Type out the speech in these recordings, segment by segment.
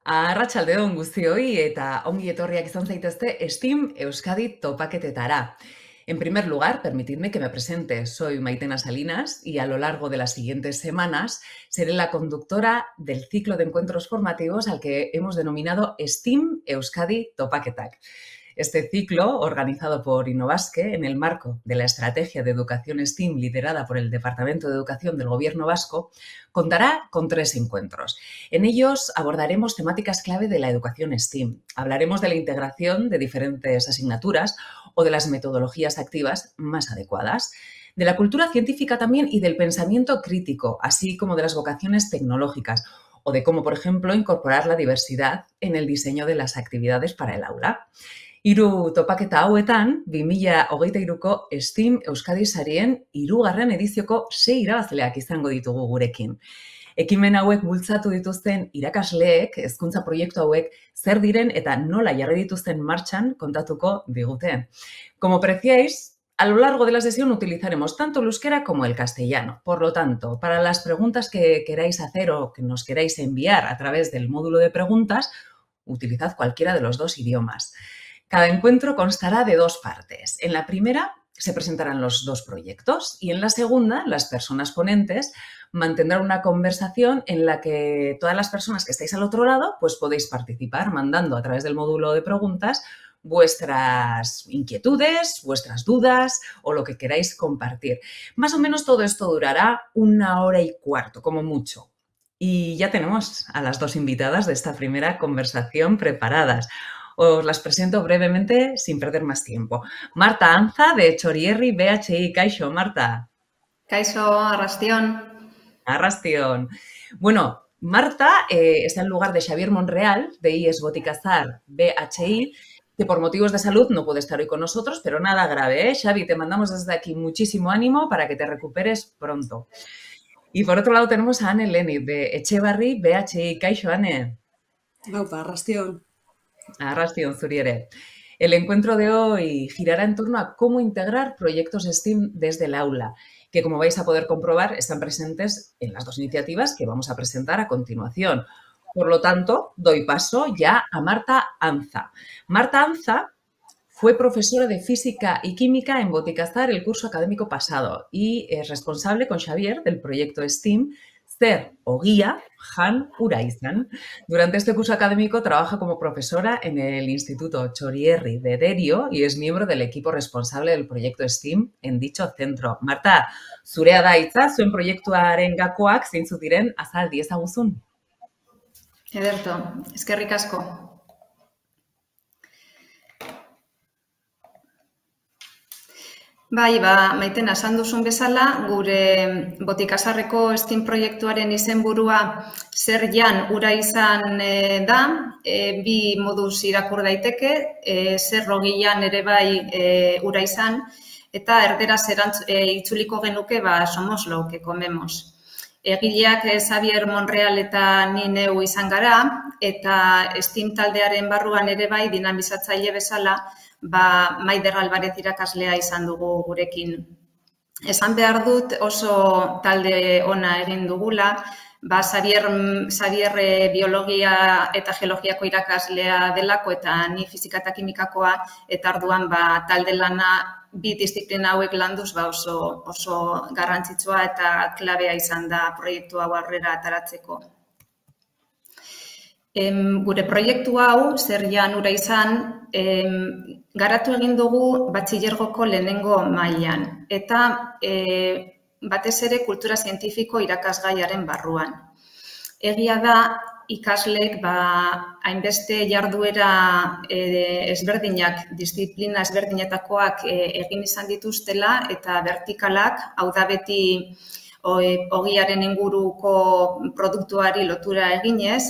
Arratsaldeon guztioi eta ongi etorriak izan zaitezte STEAM Euskadi topaketetara. En primer lugar, permitidme que me presente. Soy Maitena Salinas y a lo largo de las siguientes semanas seré la conductora del ciclo de encuentros formativos al que hemos denominado STEAM Euskadi Topaketak. Este ciclo, organizado por Innobasque en el marco de la Estrategia de Educación STEAM liderada por el Departamento de Educación del Gobierno Vasco, contará con 3 encuentros. En ellos abordaremos temáticas clave de la educación STEAM. Hablaremos de la integración de diferentes asignaturas o de las metodologías activas más adecuadas, de la cultura científica también y del pensamiento crítico, así como de las vocaciones tecnológicas o de cómo, por ejemplo, incorporar la diversidad en el diseño de las actividades para el aula. Hiru topaketa hauetan, 2023ko STEAM Euskadi sarien 3. edizioko 6 irabazleak izango ditugu gurekin. Ekimen hauek bultzatu dituzten irakasleek, hezkuntza proiektu hauek zer diren eta nola jarri dituzten martxan kontatuko digute. Como apreciáis, a lo largo de la sesión utilizaremos tanto el euskera como el castellano. Por lo tanto, para las preguntas que queráis hacer o que nos queráis enviar a través del módulo de preguntas, utilizad cualquiera de los 2 idiomas. Cada encuentro constará de 2 partes. En la primera se presentarán los 2 proyectos y en la segunda las personas ponentes mantendrán una conversación en la que todas las personas que estáis al otro lado pues podéis participar mandando a través del módulo de preguntas vuestras inquietudes, vuestras dudas o lo que queráis compartir. Más o menos todo esto durará 1 hora y cuarto, como mucho. Y ya tenemos a las 2 invitadas de esta primera conversación preparadas. Os las presento brevemente sin perder más tiempo. Marta Anza, de Txorierri BHI. Kaixo, Marta. Kaixo, arrastión. Arrastión. Bueno, Marta está en lugar de Xavier Monreal, de IES Boticazar BHI, que por motivos de salud no puede estar hoy con nosotros, pero nada grave, ¿eh? Xavi, te mandamos desde aquí muchísimo ánimo para que te recuperes pronto. Y por otro lado tenemos a Ane Leni, de Etxebarri BHI. Kaixo, Ane. Gaupa, arrastión. Arrastión, Zuriere. El encuentro de hoy girará en torno a cómo integrar proyectos STEAM desde el aula, que como vais a poder comprobar están presentes en las 2 iniciativas que vamos a presentar a continuación. Por lo tanto, doy paso ya a Marta Anza. Marta Anza fue profesora de Física y Química en Boticazar el curso académico pasado y es responsable con Xavier del proyecto STEAM Zer Ogia Jan Uraizan. Durante este curso académico trabaja como profesora en el Instituto Txorierri de Derio y es miembro del equipo responsable del proyecto STEAM en dicho centro. Marta, zurea da hitza, zuen proiektuaren gakoak zeintzuk diren azal diezaguzun. Ederto, eskerrik asko. Bai, Maitena, esan duzun bezala, gure Botikazarreko STEAM proiektuaren izenburua Zer Jan Uraizan da, 2 moduz irakur daiteke, Zer Ogian ere bai Uraizan, eta erderaz itzuliko genuke somos lo que comemos. Egileak Xavier Monreal eta ni neu izan gara, eta STEAM taldearen barruan ere bai dinamizatzaile bezala, Maider Alvarez irakaslea izan dugu gurekin. Esan behar dut oso talde ona egin dugula, Xavier biologia eta geologiako irakaslea delako eta ni fizika eta kimikakoa, eta orduan talde lana 2 disiplina hauek landuz oso garrantzitsua eta klabea izan da proiektu hau aurrera ataratzeko. Gure proiektu hau, Zer Jan Uraizan, garatu egin dugu batxilergoko lehenengo mailan eta batez ere kultura zientifiko irakasgaiaren barruan. Egia da, ikasleek hainbeste jarduera ezberdinak, disiplina ezberdinetakoak egin izan dituztela eta vertikalak, hau da beti ogiaren inguruko produktuari lotura eginez,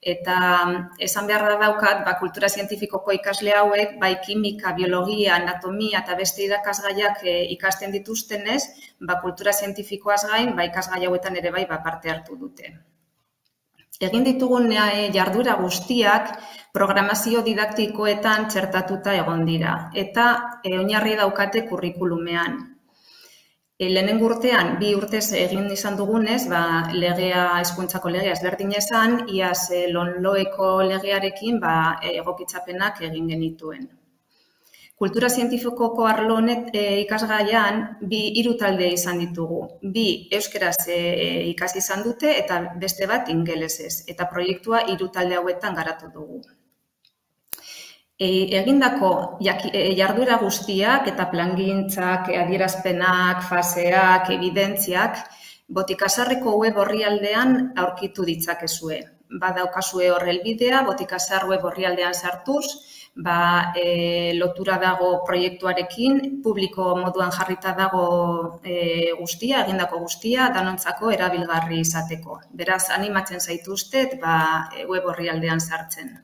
eta esan beharra daukat, kultura zientifikoko ikasle hauek, kimika, biologia, anatomia eta beste irakasgaiak ikasten dituztenez, kultura zientifikoaz gain, ikasgai hauetan ere parte hartu dute. Egin ditugun jarduera guztiak programazio didaktikoetan txertatuta egon dira, eta oinarri daukate kurrikulumean. Lehenengo urtean, 2 urtez egin izan dugunez, hezkuntzako legea ezberdin esan, iaz LONLOEko legearekin egokitzapenak egin genituen. Kultura zientifikoko arlo honet ikasgaian 3 talde izan ditugu. 2 euskeraz ikasi izan dute eta beste bat ingelesez. Eta proiektua 3 talde hauetan garatu dugu. Egindako jarduera guztiak eta plangintzak, adierazpenak, faseak, evidentziak, Botikasarreko web orrialdean aurkitu ditzakezue. Badaukazue hor helbidea, Botikasar web orrialdean sartuz, lotura dago proiektuarekin, publiko moduan jarrita dago guztia, egindako guztia, danontzako erabilgarri izateko. Beraz, animatzen zaituztet web orrialdean sartzen.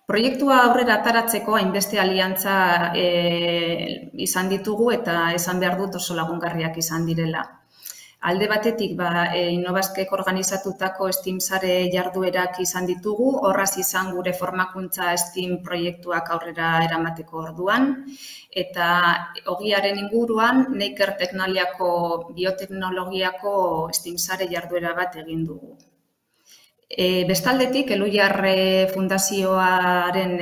Proiektua aurrera ataratzeko hainbeste aliantza izan ditugu eta esan behar dut oso lagungarriak izan direla. Alde batetik, Innobasquek organizatutako STEAM sare jarduerak izan ditugu, horraz izan gure formakuntza STEAM proiektuak aurrera eramateko orduan, eta ogiaren inguruan Neiker Teknaliako bioteknologiako STEAM sare jarduera bat egin dugu. Bestaldetik, Elhuyar Fundazioaren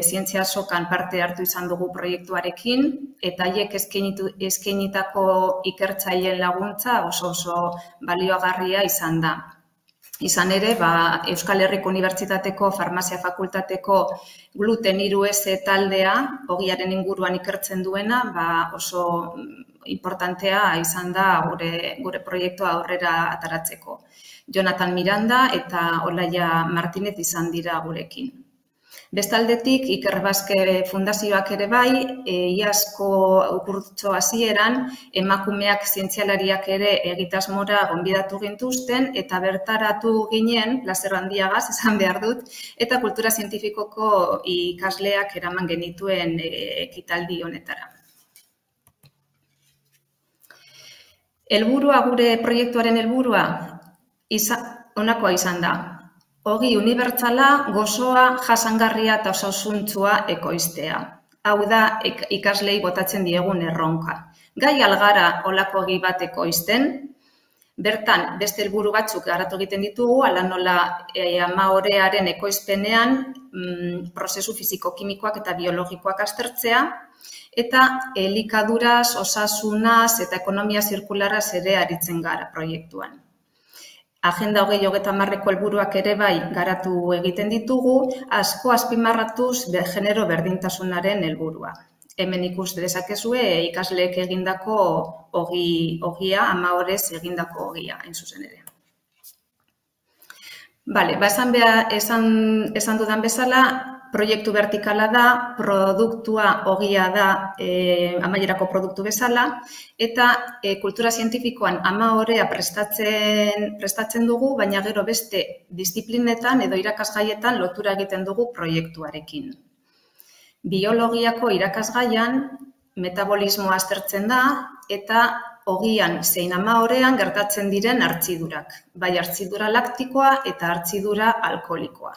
zientzia azokan parte hartu izan dugu proiektuarekin, eta haiek eskainitako ikertzaileen laguntza oso baliogarria izan da. Izan ere, Euskal Herriko Unibertsitateko Farmazia Fakultateko Gluten 3S taldea, ogiaren inguruan ikertzen duena, oso importantea izan da gure proiektua aurrera ataratzeko. Jonathan Miranda eta Olaia Martinez izan dira gurekin. Bestaldetik, Iker Baske Fundazioak ere iazko kurtso hasieran emakumeak zientzialariak ere egitasmora gonbidatu gintuzten eta bertaratu ginen, plazer handiagaz, esan behar dut, eta kultura zientifikoko ikasleak eraman genituen ekitaldi honetara. Helburua, gure proiektuaren helburua, honakoa izan da. Ogi unibertsala, gozoa, jasangarria eta osasuntsua ekoiztea. Hau da, ikaslei botatzen diegun erronka. Gai algara olako ogi bat ekoizten, bertan beste helburu batzuk garatu egiten ditugu, ala nola amaorearen ekoizpenean prozesu fisiko-kimikoak eta biologikoak aztertzea, eta elikaduraz, osasunaz eta ekonomia zirkularaz ere aritzen gara proiektuan. Agenda 2030ko helburuak ere garatu egiten ditugu, asko azpimarratuz genero berdintasunaren helburua. Hemen ikus dezakezue ikasleek egindako ogia, amaorez egindako ogia, hain zuzen ere. Esan dudan bezala, proiektu vertikala da, produktua ogia da amaierako produktu bezala, eta kultura zientifikoan amaorea prestatzen dugu, baina gero beste disiplinetan edo irakasgaietan lotura egiten dugu proiektuarekin. Biologiako irakasgaian metabolismoa aztertzen da, eta ogian zein amaorean gertatzen diren hartzidurak, bai hartzidura laktikoa eta hartzidura alkoholikoa.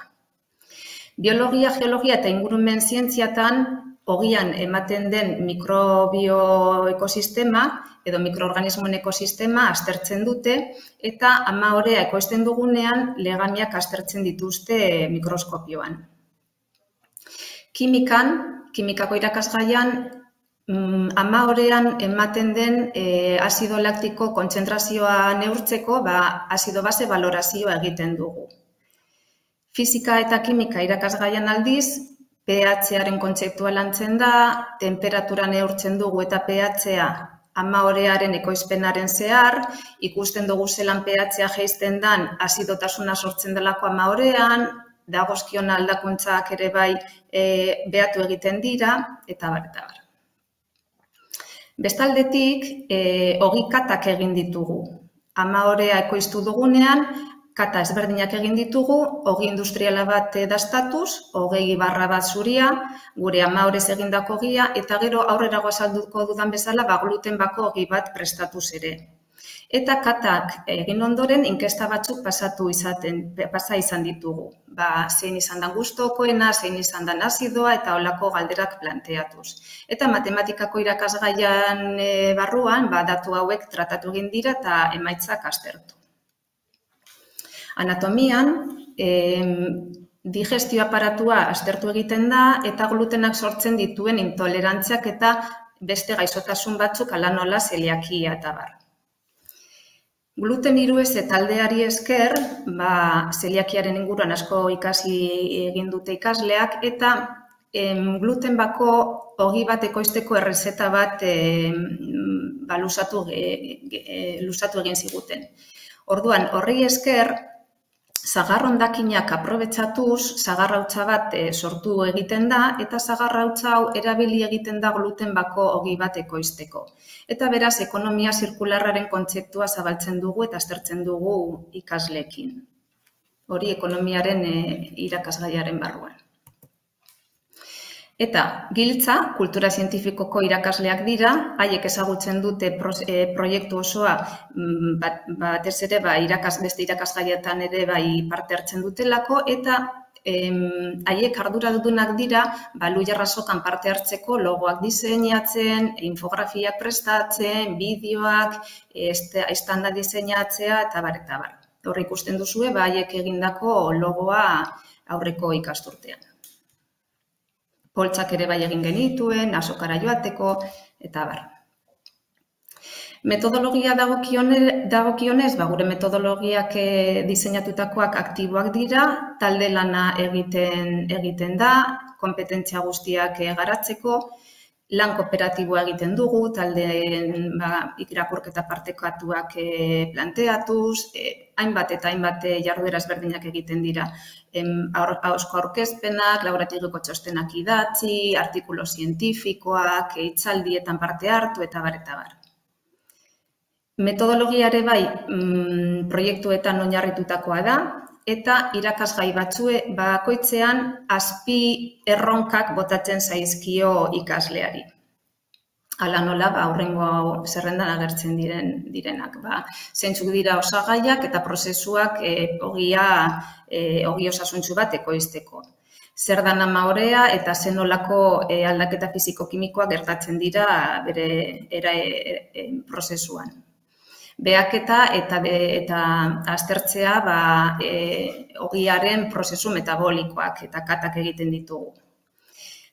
Biologia, geologia eta ingurumen zientziatan ogian ematen den mikrobioekosistema edo mikroorganismoen ekosistema aztertzen dute eta amaorea ekoizten dugunean legamiak aztertzen dituzte mikroskopioan. Kimikako irakasgaian, amaorean ematen den azido laktiko kontzentrazioa neurtzeko azido base balorazioa egiten dugu. Fisika eta kimika irakasgaian aldiz, pH-aren kontzeptua lantzen da, temperatura neurtzen dugu eta pH-a amaorearen ekoizpenaren zehar, ikusten dugu zelan pH-a jaisten dan azidotasuna sortzen delako amaorean, dagozkion aldakuntzak ere behatu egiten dira, eta bar. Bestaldetik, ogi katak egin ditugu. Amaorea ekoiztu dugunean, kata ezberdinak egin ditugu, ogi industriala bat dastatuz, 20/1 zuria, gure amaorez egindako ogia, eta gero aurrerago azalduko dudan bezala, gluten bako ogi bat prestatuz ere. Eta katak egin ondoren, inkesta batzuk pasa izan ditugu. zein izan da gustokoena, zein izan da azidoa eta holako galderak planteatuz. Eta matematikako irakasgaian barruan, datu hauek tratatu egin dira eta emaitzak aztertu. Anatomian, digestio aparatua aztertu egiten da eta glutenak sortzen dituen intolerantziak eta beste gaixotasun batzuk hala nola zeliakia eta bar. Gluten hirueze taldeari esker, zeliakiaren inguruan asko ikasi egin dute ikasleak eta gluten bako ogi bat ekoizteko errezeta bat luzatu egin ziguten. Orduan, horri esker, sagar hondakinak aprobetxatuz, sagarrautza bat sortu egiten da eta sagarrautza hau erabili egiten da gluten bako ogi bat ekoizteko. Eta beraz, ekonomia zirkularraren kontzeptua zabaltzen dugu eta aztertzen dugu ikasleekin. Hori ekonomiaren irakasgaiaren barruan. Eta giltza, kultura zientifikoko irakasleak dira, haiek ezagutzen dute proiektu osoa batez ere beste irakasgaietan ere parte hartzen dutelako eta haiek arduradunak dira Luia Rasokan parte hartzeko logoak diseinatzen, infografiak prestatzen, bideoak, estanda diseinatzea eta bar eta bar. Hor ikusten duzue haiek egindako logoa aurreko ikasturtean. Poltsak ere egin genituen, azokara joateko, eta bar. Metodologia dagokionez, gure metodologiak diseinatutakoak aktiboak dira, talde lana egiten da, konpetentzia guztiak garatzeko, lan kooperatiboa egiten dugu, taldeen irakurketa partekatuak planteatuz, hainbat eta hainbat jarduera ezberdinak egiten dira. Ahozko aurkezpenak, laborategiko txostenak idatzi, artikulu zientifikoak, hitzaldietan parte hartu eta bar eta bar. Metodologiare proiektuetan oinarritutakoa da, eta irakasgai bakoitzean azpi erronkak botatzen zaizkio ikasleari. Hala nola, aurrengo zerrendan agertzen direnak. Zeintzuk dira osagaiak eta prozesuak ogi osasuntsu bat ekoizteko. Zer da namaorea eta zenolako aldaketa fisiko-kimikoak gertatzen dira bere prozesuan. Behaketa eta aztertzea ogiaren prozesu metabolikoak eta katak egiten ditugu.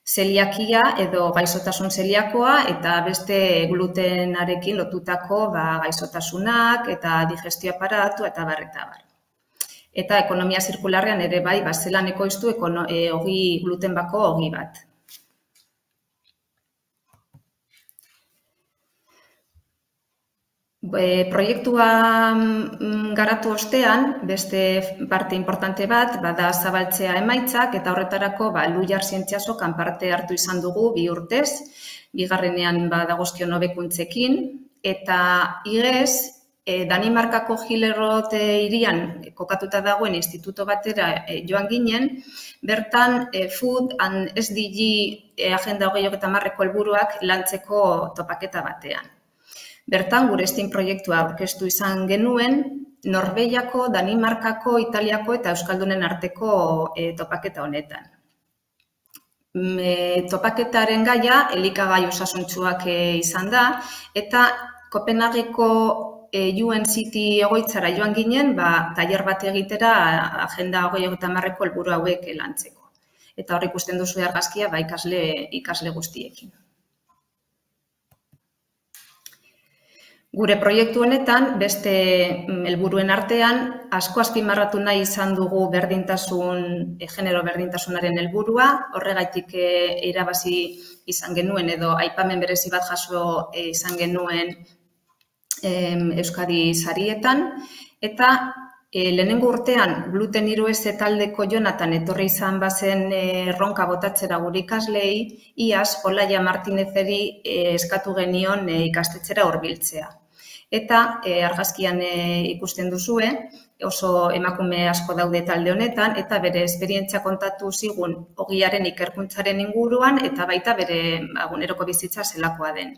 Zeliakia edo gaixotasun zeliakoa eta beste glutenarekin lotutako gaixotasunak eta digestio aparatu eta bar eta bar. Eta ekonomia zirkularrean ere zelan ekoiztu gluten bako ogi bat. Proiektua garatu ostean, beste parte importante bat, da zabaltzea emaitzak, eta horretarako Luiar Zientziasokan parte hartu izan dugu 2 urtez, bigarrenean dagozkion hobekuntzekin, eta igez, Danimarkako Hillerød hirian kokatuta dagoen instituto batera joan ginen, bertan Food and SDG Agenda 2030ko helburuak lantzeko topaketa batean. Bertan, gure STEAM proiektua aurkeztu izan genuen, Norvegiako, Danimarkako, Italiako eta Euskaldunen arteko topaketa honetan. Topaketaren gaia, elikagai osasuntsuak izan da, eta Kopenhageko UNCT egoitzara joan ginen, tailer bat egitera Agenda 2030ko helburu hauek lantzeko. Eta hor ikusten duzu argazkia ikasle guztiekin. Gure proiektu honetan, beste helburuen artean, asko azpimarratu nahi izan dugu genero berdintasunaren helburua, horregaitik irabazi izan genuen edo aipamen berezi bat jaso izan genuen Euskadi sarietan, eta lehenengo urtean gluten hirueze taldeko Jonatan etorri izan bazen erronka botatzera gure ikaslei, iaz Olaia Martinezeri eskatu genion ikastetxera hurbiltzea. Eta argazkian ikusten duzue, oso emakume asko daude talde honetan, eta bere esperientzia kontatu zigun ogiaren ikerkuntzaren inguruan, eta baita bere eguneroko bizitza zelakoa den.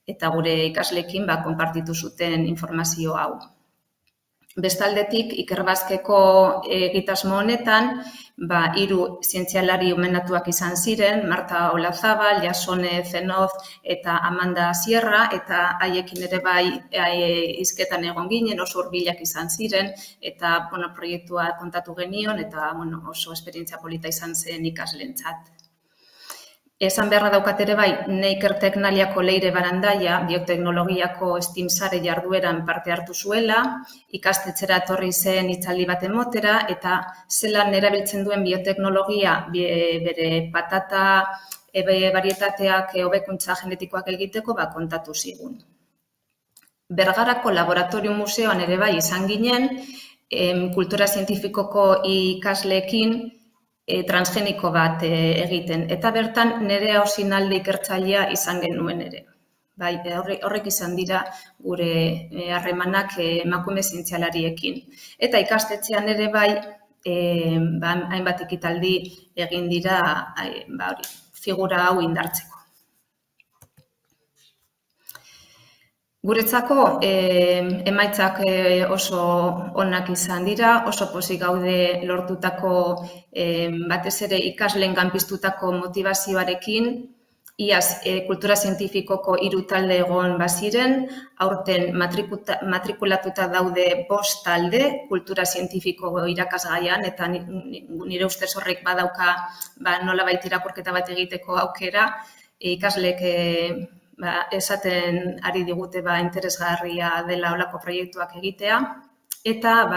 Eta gure ikasleekin konpartitu zuten informazio hau. Bestaldetik, Ikerbazkeko egitasmo honetan, 3 zientzialari omenatuak izan ziren, Marta Olazabal, Jasone Zenoz eta Amanda Sierra, eta haiekin ere bai hizketan egon ginen, oso hurbilak izan ziren, eta proiektua kontatu genion, eta oso esperientzia polita izan zen ikasleentzat. Esan beharra daukat ere bai, Neiker Teknaliako Leire Barandaia, bioteknologiako STEAM sare jardueran parte hartu zuela, ikastetxera etorri zen hitzaldi bat emotera, eta zelan erabiltzen duen bioteknologia bere patata barietateak hobekuntza genetikoak egiteko kontatu zigun. Bergarako Laboratorio Museoan ere bai izan ginen, kultura zientifikoko ikasleekin transgeniko bat egiten. Eta bertan Nerea Osinalde ikertzailea izan genuen ere. Horrek izan dira gure harremanak emakume zientzialariekin. Eta ikastetxean ere bai, hainbat ekitaldi egin dira figura hau indartzeko. Guretzako emaitzak oso onak izan dira, oso pozik gaude lortutako batez ere ikasleen piztutako motivazioarekin, iaz kultura zientifikoko 3 talde egon baziren, aurten matrikulatuta daude 5 talde kultura zientifiko irakasgaian, eta nire ustez horrek badauka nolabait irakurketa bat egiteko aukera, ikasleek esaten ari digute interesgarria dela olako proiektuak egitea, eta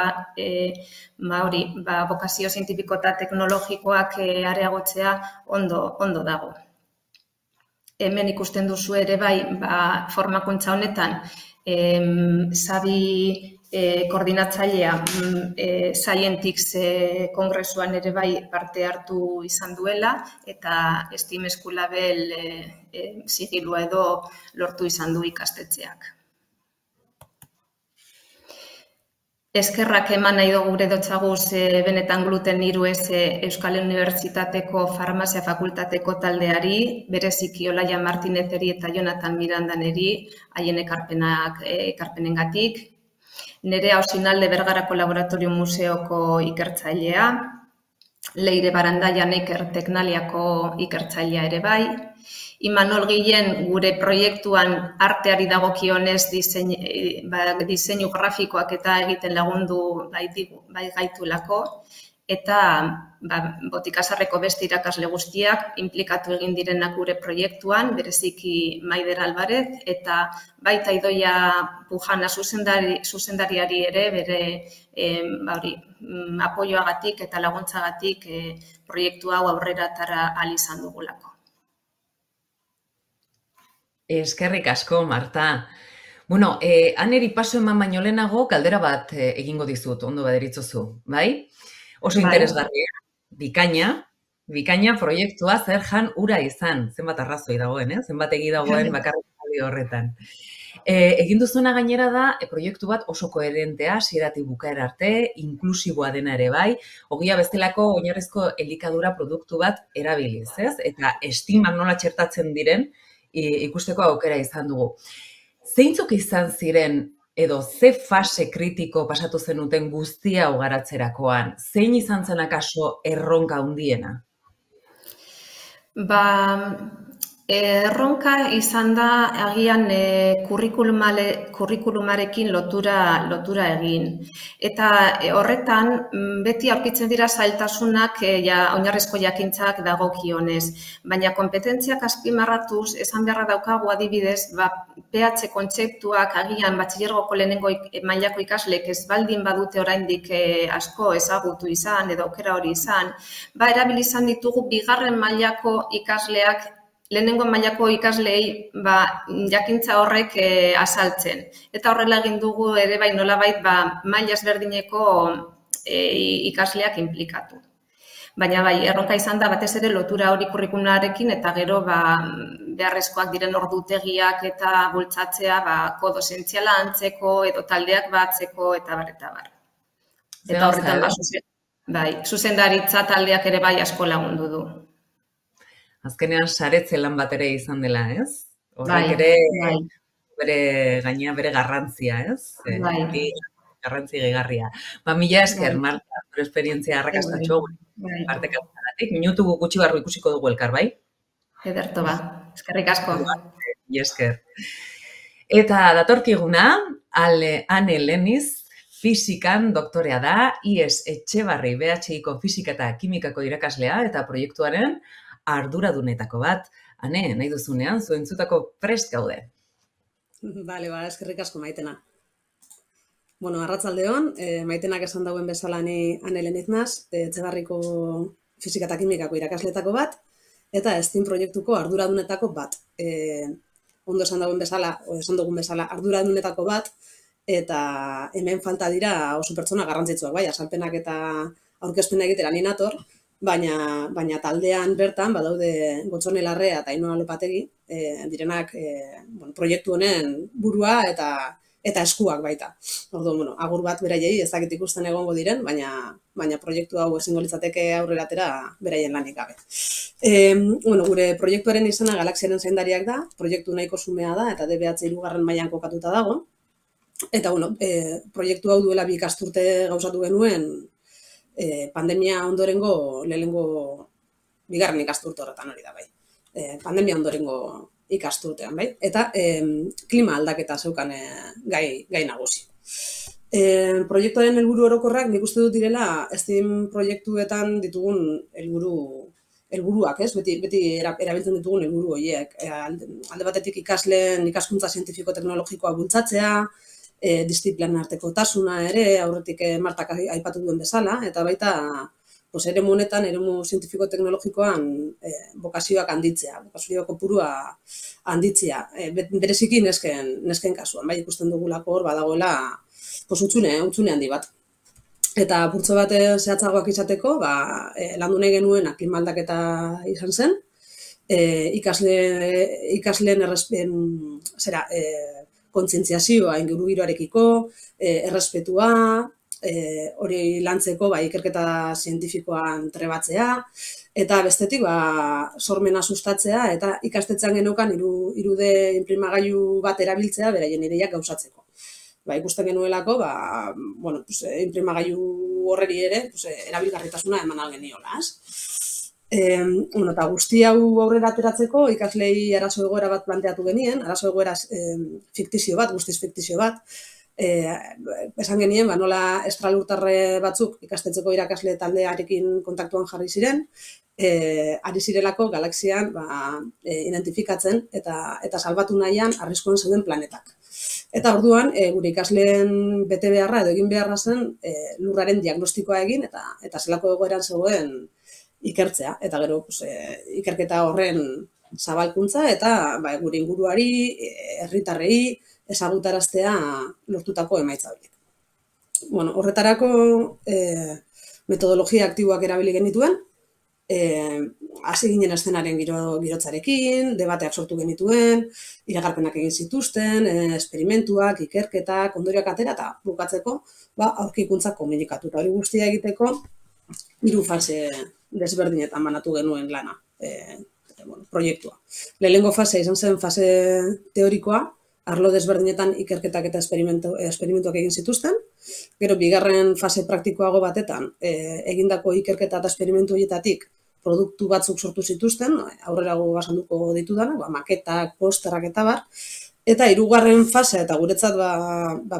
bokazio zientifiko eta teknologikoak areagotzea ondo dago. Hemen ikusten duzu ere bai, formakuntza honetan, Sabi koordinatzailea Scientix kongresuan ere bai parte hartu izan duela, eta STEAM Eskulabel sigilua edo lortu izan du ikastetxeak. Eskerrak eman nahi dugu gure dotzaguz benetan gluten 3S Euskal Unibertsitateko Farmazia Fakultateko taldeari, bereziki Olaia Martinezeri eta Jonathan Mirandaneri, haien ekarpenengatik. Nerea Osinalde Bergarako Laboratorio Museoko ikertzailea, Leire Barandaia Neiker Teknaliako ikertzailea ere bai, Imanol Guillen gure proiektuan arteari dagokionez diseinu grafikoak eta egiten lagundu bai gaitulako, eta Botikasarreko beste irakasle guztiak inplikatu egin direnak gure proiektuan, bereziki Maider Alvarez, eta baita Idoia Pujana zuzendariari ere bere apoioagatik eta laguntzagatik proiektu hau aurrera atera ahal izan dugulako. Eskerrik asko, Marta. Aneri paso eman baino lehenago galdera bat egingo dizut, ondo baderitzozu, bai? Oso interesgarria, bikaina proiektua zer jan ura izan, zenbat arrazoi dagoen, zenbat egi dagoen bakarrik horretan. Egin duzuna gainera da, proiektu bat oso koherentea, hasieratik bukaera arte, inklusiboa dena ere bai, ogia bestelako oinarrizko elikadura produktu bat erabiliz, eta estimak nola txertatzen diren, ikusteko aukera izan dugu. Zeintzuk izan ziren edo ze fase kritiko pasatu zenuten guztia hau garatzerakoan? Zein izan zen akaso erronka handiena? Erronka izan da agian kurrikulumarekin lotura egin. Eta horretan beti aurkitzen dira zailtasunak oinarrizko jakintzak dagokionez. Baina konpetentziak azpimarratuz, esan beharra daukagu adibidez, PH kontzeptuak agian batxilergoko lehenengo mailako ikasleek ez baldin badute oraindik asko ezagutu izan edo aukera hori izan, erabili izan ditugu bigarren mailako ikasleak lehenengo mailako ikasleei jakintza horrek azaltzen. Eta horrela egin dugu ere bai nolabait maila ezberdineko ikasleak inplikatu. Baina erronka izan da batez ere lotura hori kurrikulumararekin eta gero beharrezkoak diren ordutegiak eta bultzatzea kodo zientziala antzeko edo taldeak batzeko eta bar. Eta horretan zuzendaritza taldeak ere bai asko lagundu du. Azkenean saretze lan bat ere izan dela, ez? Horrek ere bere garrantzia, ez? garrantzi gehigarria. Mila esker, Marta, zure esperientzia arrakastatxo partekatzagatik. Minutu gutxi barru ikusiko dugu elkar, bai? Ederto ba, eskerrik asko. Mila esker. Eta datorkiguna, Ane Leniz, fisikan doktorea da, IES Etxebarri BHIko fisika eta kimikako irakaslea eta proiektuaren arduradunetako bat. Ane, nahi duzunean, zuentzutako prest gaude. Bale, eskerrik asko Maitena. Bueno, arratsaldeon, Maitenak esan dauen bezala ni Ane Leniz naz, Etxebarriko fisika eta kimikako irakasletako bat, eta STEAM proiektuko arduradunetako bat. Ondo esan dugun bezala, arduradunetako bat, eta hemen falta dira oso pertsona garrantzitsuak, bai, azalpenak eta aurkezpena egitera ni nator, baina taldean bertan badaude Gotzone Larrea eta Ainhoa Lopategi, direnak proiektu honen burua eta eskuak baita. Orduan, agur bat beraiei ez dakit ikusten egongo diren, baina proiektu hau ezingo litzateke aurrera atera beraien lanik gabe. Gure proiektuaren izena Galaxiaren zaindariak da, proiektu nahiko xumea da eta DBH 3. mailan kokatuta dago. Eta, proiektu hau duela 2 ikasturte gauzatu genuen pandemia ondorengo lehenengo 2. ikasturte horretan hori da, bai. Pandemia ondorengo ikasturtean, bai? Eta klima aldaketa zeukan gai nagusi. Proiektuaren helburu orokorrak nik uste dut direla STEAM proiektuetan ditugun helburuak, ez? Beti erabiltzen ditugun helburu horiek. Alde batetik ikasleen ikaskuntza zientifiko-teknologikoa bultzatzea, disiplinen artekotasuna ere, aurretik Martak aipatu duen bezala, eta baita eremu honetan, eremu zientifiko-teknologikoan bokazioak handitzea, bokazio kopurua handitzea, bereziki nesken kasuan, bai ikusten dugulako hor badagoela utxune handi bat. Eta purtzo bat zehatzagoak izateko, landu nahi genuen klima aldaketa izan zen, ikasleen kontzientziazioa ingurugiroarekiko, errespetua, hori lantzeko ikerketa zientifikoan trebatzea, eta bestetik sormena sustatzea eta ikastetxean geneukan 3D inprimagailu bat erabiltzea beraien ideiak gauzatzeko. Ikusten genuelako, inprimagailu horreri ere erabilgarritasuna eman algeniola, eta guzti hau aurrera ateratzeko ikaslei arazo egoera bat planteatu genien, arazo egoera fiktizio bat, guztiz fiktizio bat, esan genien, nola estralurtarre batzuk ikastetxeko irakasle taldearekin kontaktuan jarri ziren, ari zirelako galaxian identifikatzen eta salbatu nahian arriskuan zeuden planetak. Eta orduan, gure ikasleen bete beharra edo egin beharra zen lurraren diagnostikoa egin eta zelako egoeran zegoen ikertzea. Eta gero, ikerketa horren zabalkuntza eta gure inguruari, herritarrei, ezagutaraztea lortutako emaitza horiek. Horretarako metodologia aktiboak erabili genituen, hasi ginen eszenaren girotzarekin, debateak sortu genituen, iragarpenak egin zituzten, esperimentuak, ikerketak, ondorioak atera eta bukatzeko aurkikuntzak komunikatu. Eta hori guztia egiteko 3 fase desberdinetan banatu genuen lana, proiektua. Lehenengo fase izan zen fase teorikoa, arlo desberdinetan ikerketak eta esperimentuak egin zituzten. Gero, 2. fase praktikoago batetan, egindako ikerketa eta esperimentu horietatik produktu batzuk sortu zituzten, aurrerago azalduko ditudanak, maketak, posterak eta bar. Eta 3. fasea eta guretzat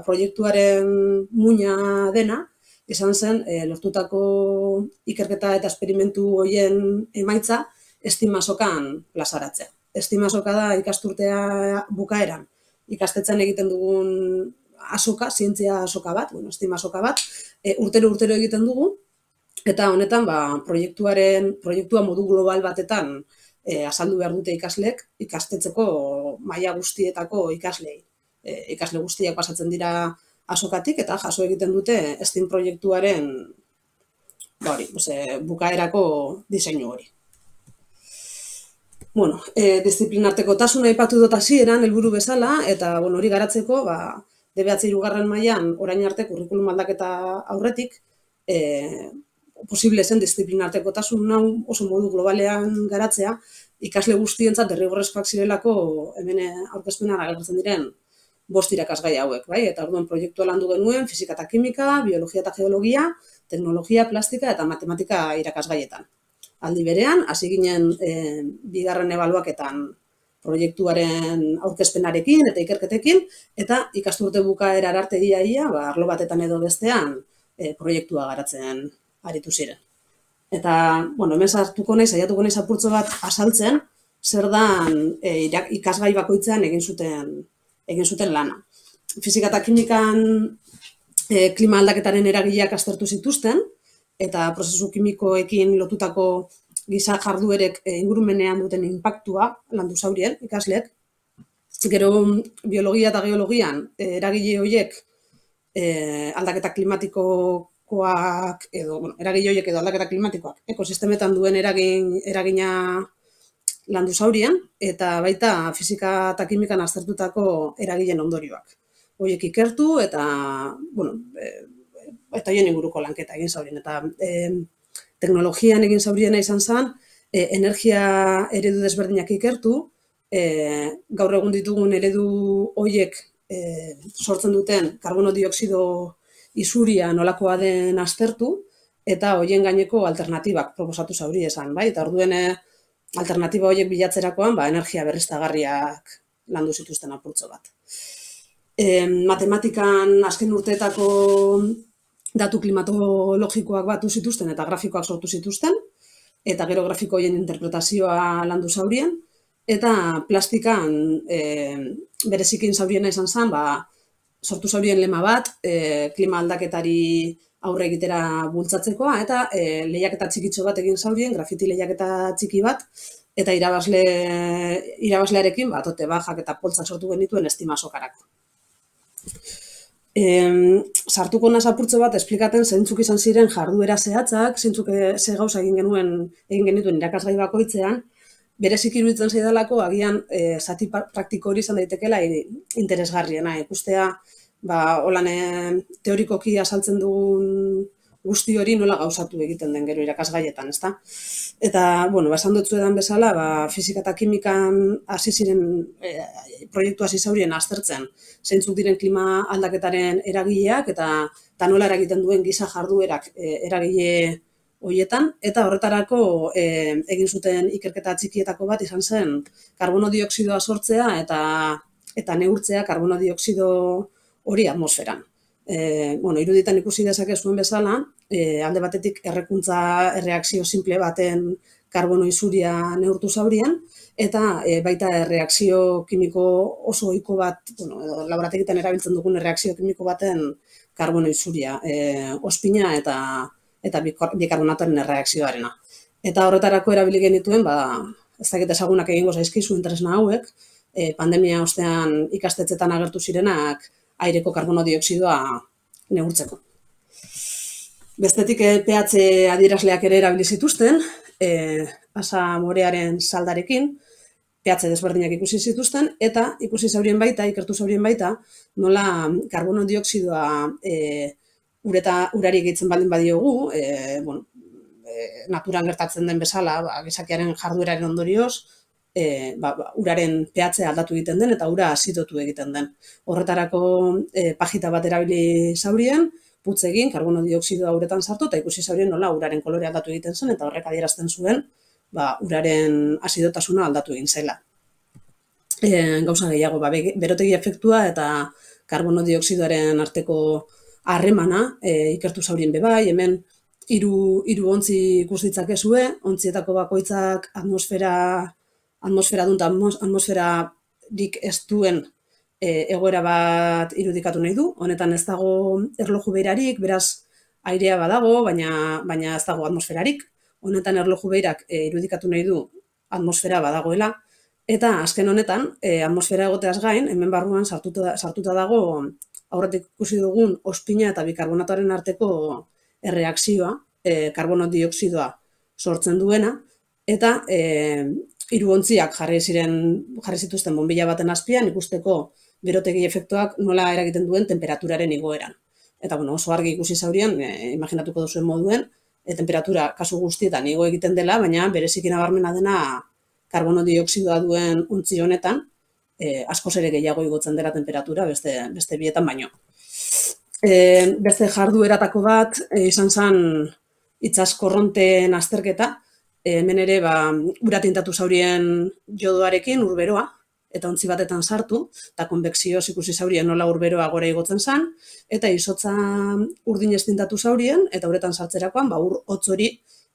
proiektuaren muina dena, izan zen lortutako ikerketa eta esperimentu horien emaitza STEAM azokan plazaratzea. STEAM azoka da ikasturtea bukaeran ikastetxean egiten dugun azoka, zientzia azoka bat, STEAM azoka bat, urtero egiten dugu, eta honetan proiektua modu global batetan azaldu behar dute ikasleek, ikastetxeko maila guztietako ikaslei. Ikasle guztiak pasatzen dira azokatik eta jaso egiten dute STEAM proiektuaren bukaerako diseinu hori. Disiplinartekotasuna aipatu dut hasieran helburu bezala, eta hori garatzeko DBH 3. mailan orain arte kurrikulum aldaketa aurretik posible zen disiplinartekotasun hau oso modu globalean garatzea, ikasle guztientzat derrigorrezkoak zirelako hemen aurkezpenan agertzen diren 5 irakasgai hauek, bai? Eta orduan proiektua landu genuen fisika eta kimika, biologia eta geologia, teknologia, plastika eta matematika irakasgaietan. Aldi berean, hasi ginen bigarren ebaluaketan proiektuaren aurkezpenarekin eta ikerketekin, eta ikasturte bukaera arte ia, arlo batetan edo bestean proiektua garatzen aritu ziren. Eta, hemen saiatuko naiz apurtxo bat azaltzen, zer dan ikasgai bakoitzean egin zuten lana. Fisika eta kimikan klima aldaketaren eragileak aztertu zituzten, eta prozesu kimikoekin lotutako giza jarduerek ingurumenean duten inpaktua landu zaurien ikasleek. Gero biologia eta geologian eragile horiek aldaketa klimatikoak edo aldaketa klimatikoak ekosistemetan duen eragina landu zaurien, eta baita fisika eta kimikan aztertutako eragileen ondorioak. Horiek ikertu eta horien inguruko lanketa egin zaurien. Eta teknologian egin zauriena izan zen, energia eredu desberdinak ikertu, gaur egun ditugun eredu horiek sortzen duten karbono dioksido isuria nolakoa den aztertu, eta horien gaineko alternatibak proposatu zauri esan, bai? Eta orduen alternatiba horiek bilatzerakoan, energia berriztagarriak landu zituzten apurtxo bat. Matematikan azken urteetako datu klimatologikoak batu zituzten eta grafikoak sortu zituzten, eta gero grafiko horien interpretazioa landu zaurien, eta plastikan berezikin zauriena izan zen, sortu zaurien lema bat, klima aldaketari aurre egitera bultzatzekoa, eta lehiaketa txikitxo bat egin zaurien, grafiti lehiaketa txiki bat, eta irabazlearekin tote bajak eta poltsak sortu genituen estima sokarako. Sartuko naz apurtxo bat esplikaten zeintzuk izan ziren jarduera zehatzak, zeintzuk ze gauza egin genituen irakasgai bakoitzean, berezik iruditzen zaidalako agian zati praktiko hori izan daitekela interesgarriena. Ikustea, holan teorikoki azaltzen dugun guzti hori nola gauzatu egiten den gero irakasgaietan, ezta? Eta, esan dut zuedan bezala, fisika eta kimikan hasi ziren proiektu hasi zaurien aztertzen zeintzuk diren klima aldaketaren eragileak eta nola eragiten duen giza jarduerak eragile horietan, eta horretarako egin zuten ikerketa txikietako bat izan zen karbono dioksidoa sortzea eta neurtzea karbono dioksido hori atmosferan. Iruditan ikusi dezakezuen bezala, alde batetik errekuntza erreakzio simple baten karbono isuria neurtu zaurien, eta baita erreakzio kimiko oso ohiko bat, laborategitan erabiltzen dugun erreakzio kimiko baten karbono isuria, ospina eta bikarbonatoren erreakzioarena. Eta horretarako erabili genituen, ez dakit ezagunak egingo zaizkizu tresna hauek, pandemia ostean ikastetxetan agertu zirenak aireko karbono dioksidoa neurtzeko. Bestetik pH adierazleak ere erabili zituzten, asa morearen saldarekin, pH desberdinak ikusi zituzten, eta ikusi zaurien baita, ikertu zaurien baita, nola karbono dioksidoa urari egitzen baldin badiogu, naturan gertatzen den bezala, gizakiaren jardueraren ondorioz, uraren pH aldatu egiten den eta ura azidotu egiten den. Horretarako pajita bat erabili zaurien, putz egin, karbono dioksidoa uretan sartu, eta ikusi zaurien nola uraren kolore aldatu egiten zen, eta horrek adierazten zuen, uraren azidotasuna aldatu egin zela. Gauza gehiago, berotegi efektua eta karbono dioksidoaren arteko harremana ikertu zaurien bebai, hemen hiru ontzi ikus ditzakezue, ontzietako bakoitzak atmosfera dut, atmosferarik ez duen egoera bat irudikatu nahi du. Honetan ez dago erloju behirarik, beraz airea badago, baina ez dago atmosferarik. Honetan erloju behirak irudikatu nahi du atmosfera badagoela. Eta azken honetan, atmosfera egoteaz gain, hemen barruan sartuta dago aurretik ikusi dugun ospina eta bikarbonatoaren arteko erreakzioa, karbono dioksidoa sortzen duena, eta hiru ontziak jarri zituzten bonbilla baten azpian ikusteko berotegi efektuak nola eragiten duen temperaturaren igoeran. Eta oso argi ikusi zaurien, imaginatuko duzuen moduen, temperatura kasu guztietan igo egiten dela, baina bereziki nabarmena dena karbono dioksidoa duen ontzi honetan, askoz ere gehiago igotzen dela temperatura beste bietan baino. Beste jardueratako bat izan zen itsas korronteen azterketa, hemen ere ura tintatu zaurien jodoarekin urberoa, eta ontzi batetan sartu, eta konbekzioz ikusi zaurien nola urberoa gora igotzen zen, eta izotza urdinez tintatu zaurien, eta uretan sartzerakoan, ur hotz hori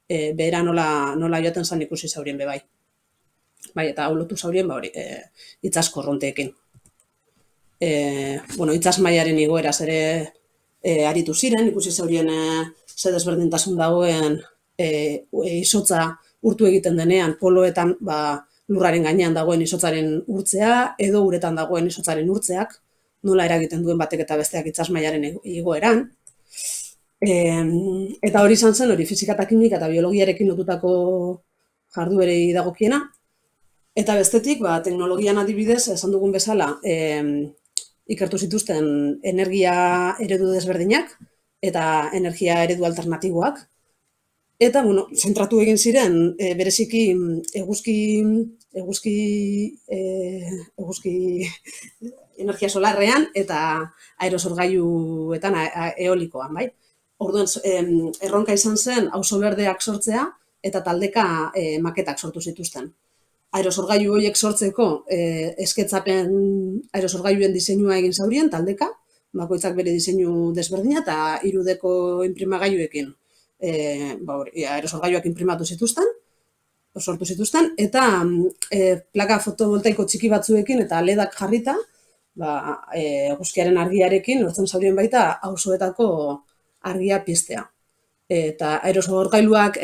behera nola joaten zen ikusi zaurien bebai. Bai, eta hau lotu zaurien, itsas korronteekin. Itsas mailaren igoeraz ere aritu ziren, ikusi zaurien ze desberdintasun dagoen izotza urtu egiten denean, poloetan lurraren gainean dagoen izotzaren urtzea, edo uretan dagoen izotzaren urtzeak, nola eragiten duen batek eta besteak itsas mailaren igoeran. Eta hori izan zen, hori fisika eta kimika eta biologiarekin lotutako jarduerei dagokiena. Eta bestetik, teknologian adibidez, esan dugun bezala, ikertu zituzten energia eredu desberdinak eta energia eredu alternatiboak. Eta, zentratu egin ziren, bereziki eguzki energia solarrean eta aerosorgailuetan eolikoan, bai? Orduan, erronka izan zen auzo berdeak sortzea eta taldeka maketak sortu zituzten. Aerosorgailu horiek sortzeko esketzapen aerosorgailuen diseinua egin zaurien taldeka, bakoitzak bere diseinu desberdina eta 3Dko inprimagailuekin aerosorgailuak inprimatu zituzten, sortu zituzten, eta plaka fotovoltaiko txiki batzuekin eta LEDak jarrita, eguzkiaren argiarekin lortzen zaurien baita auzoetako argia piztea. Eta aerosorgailuak,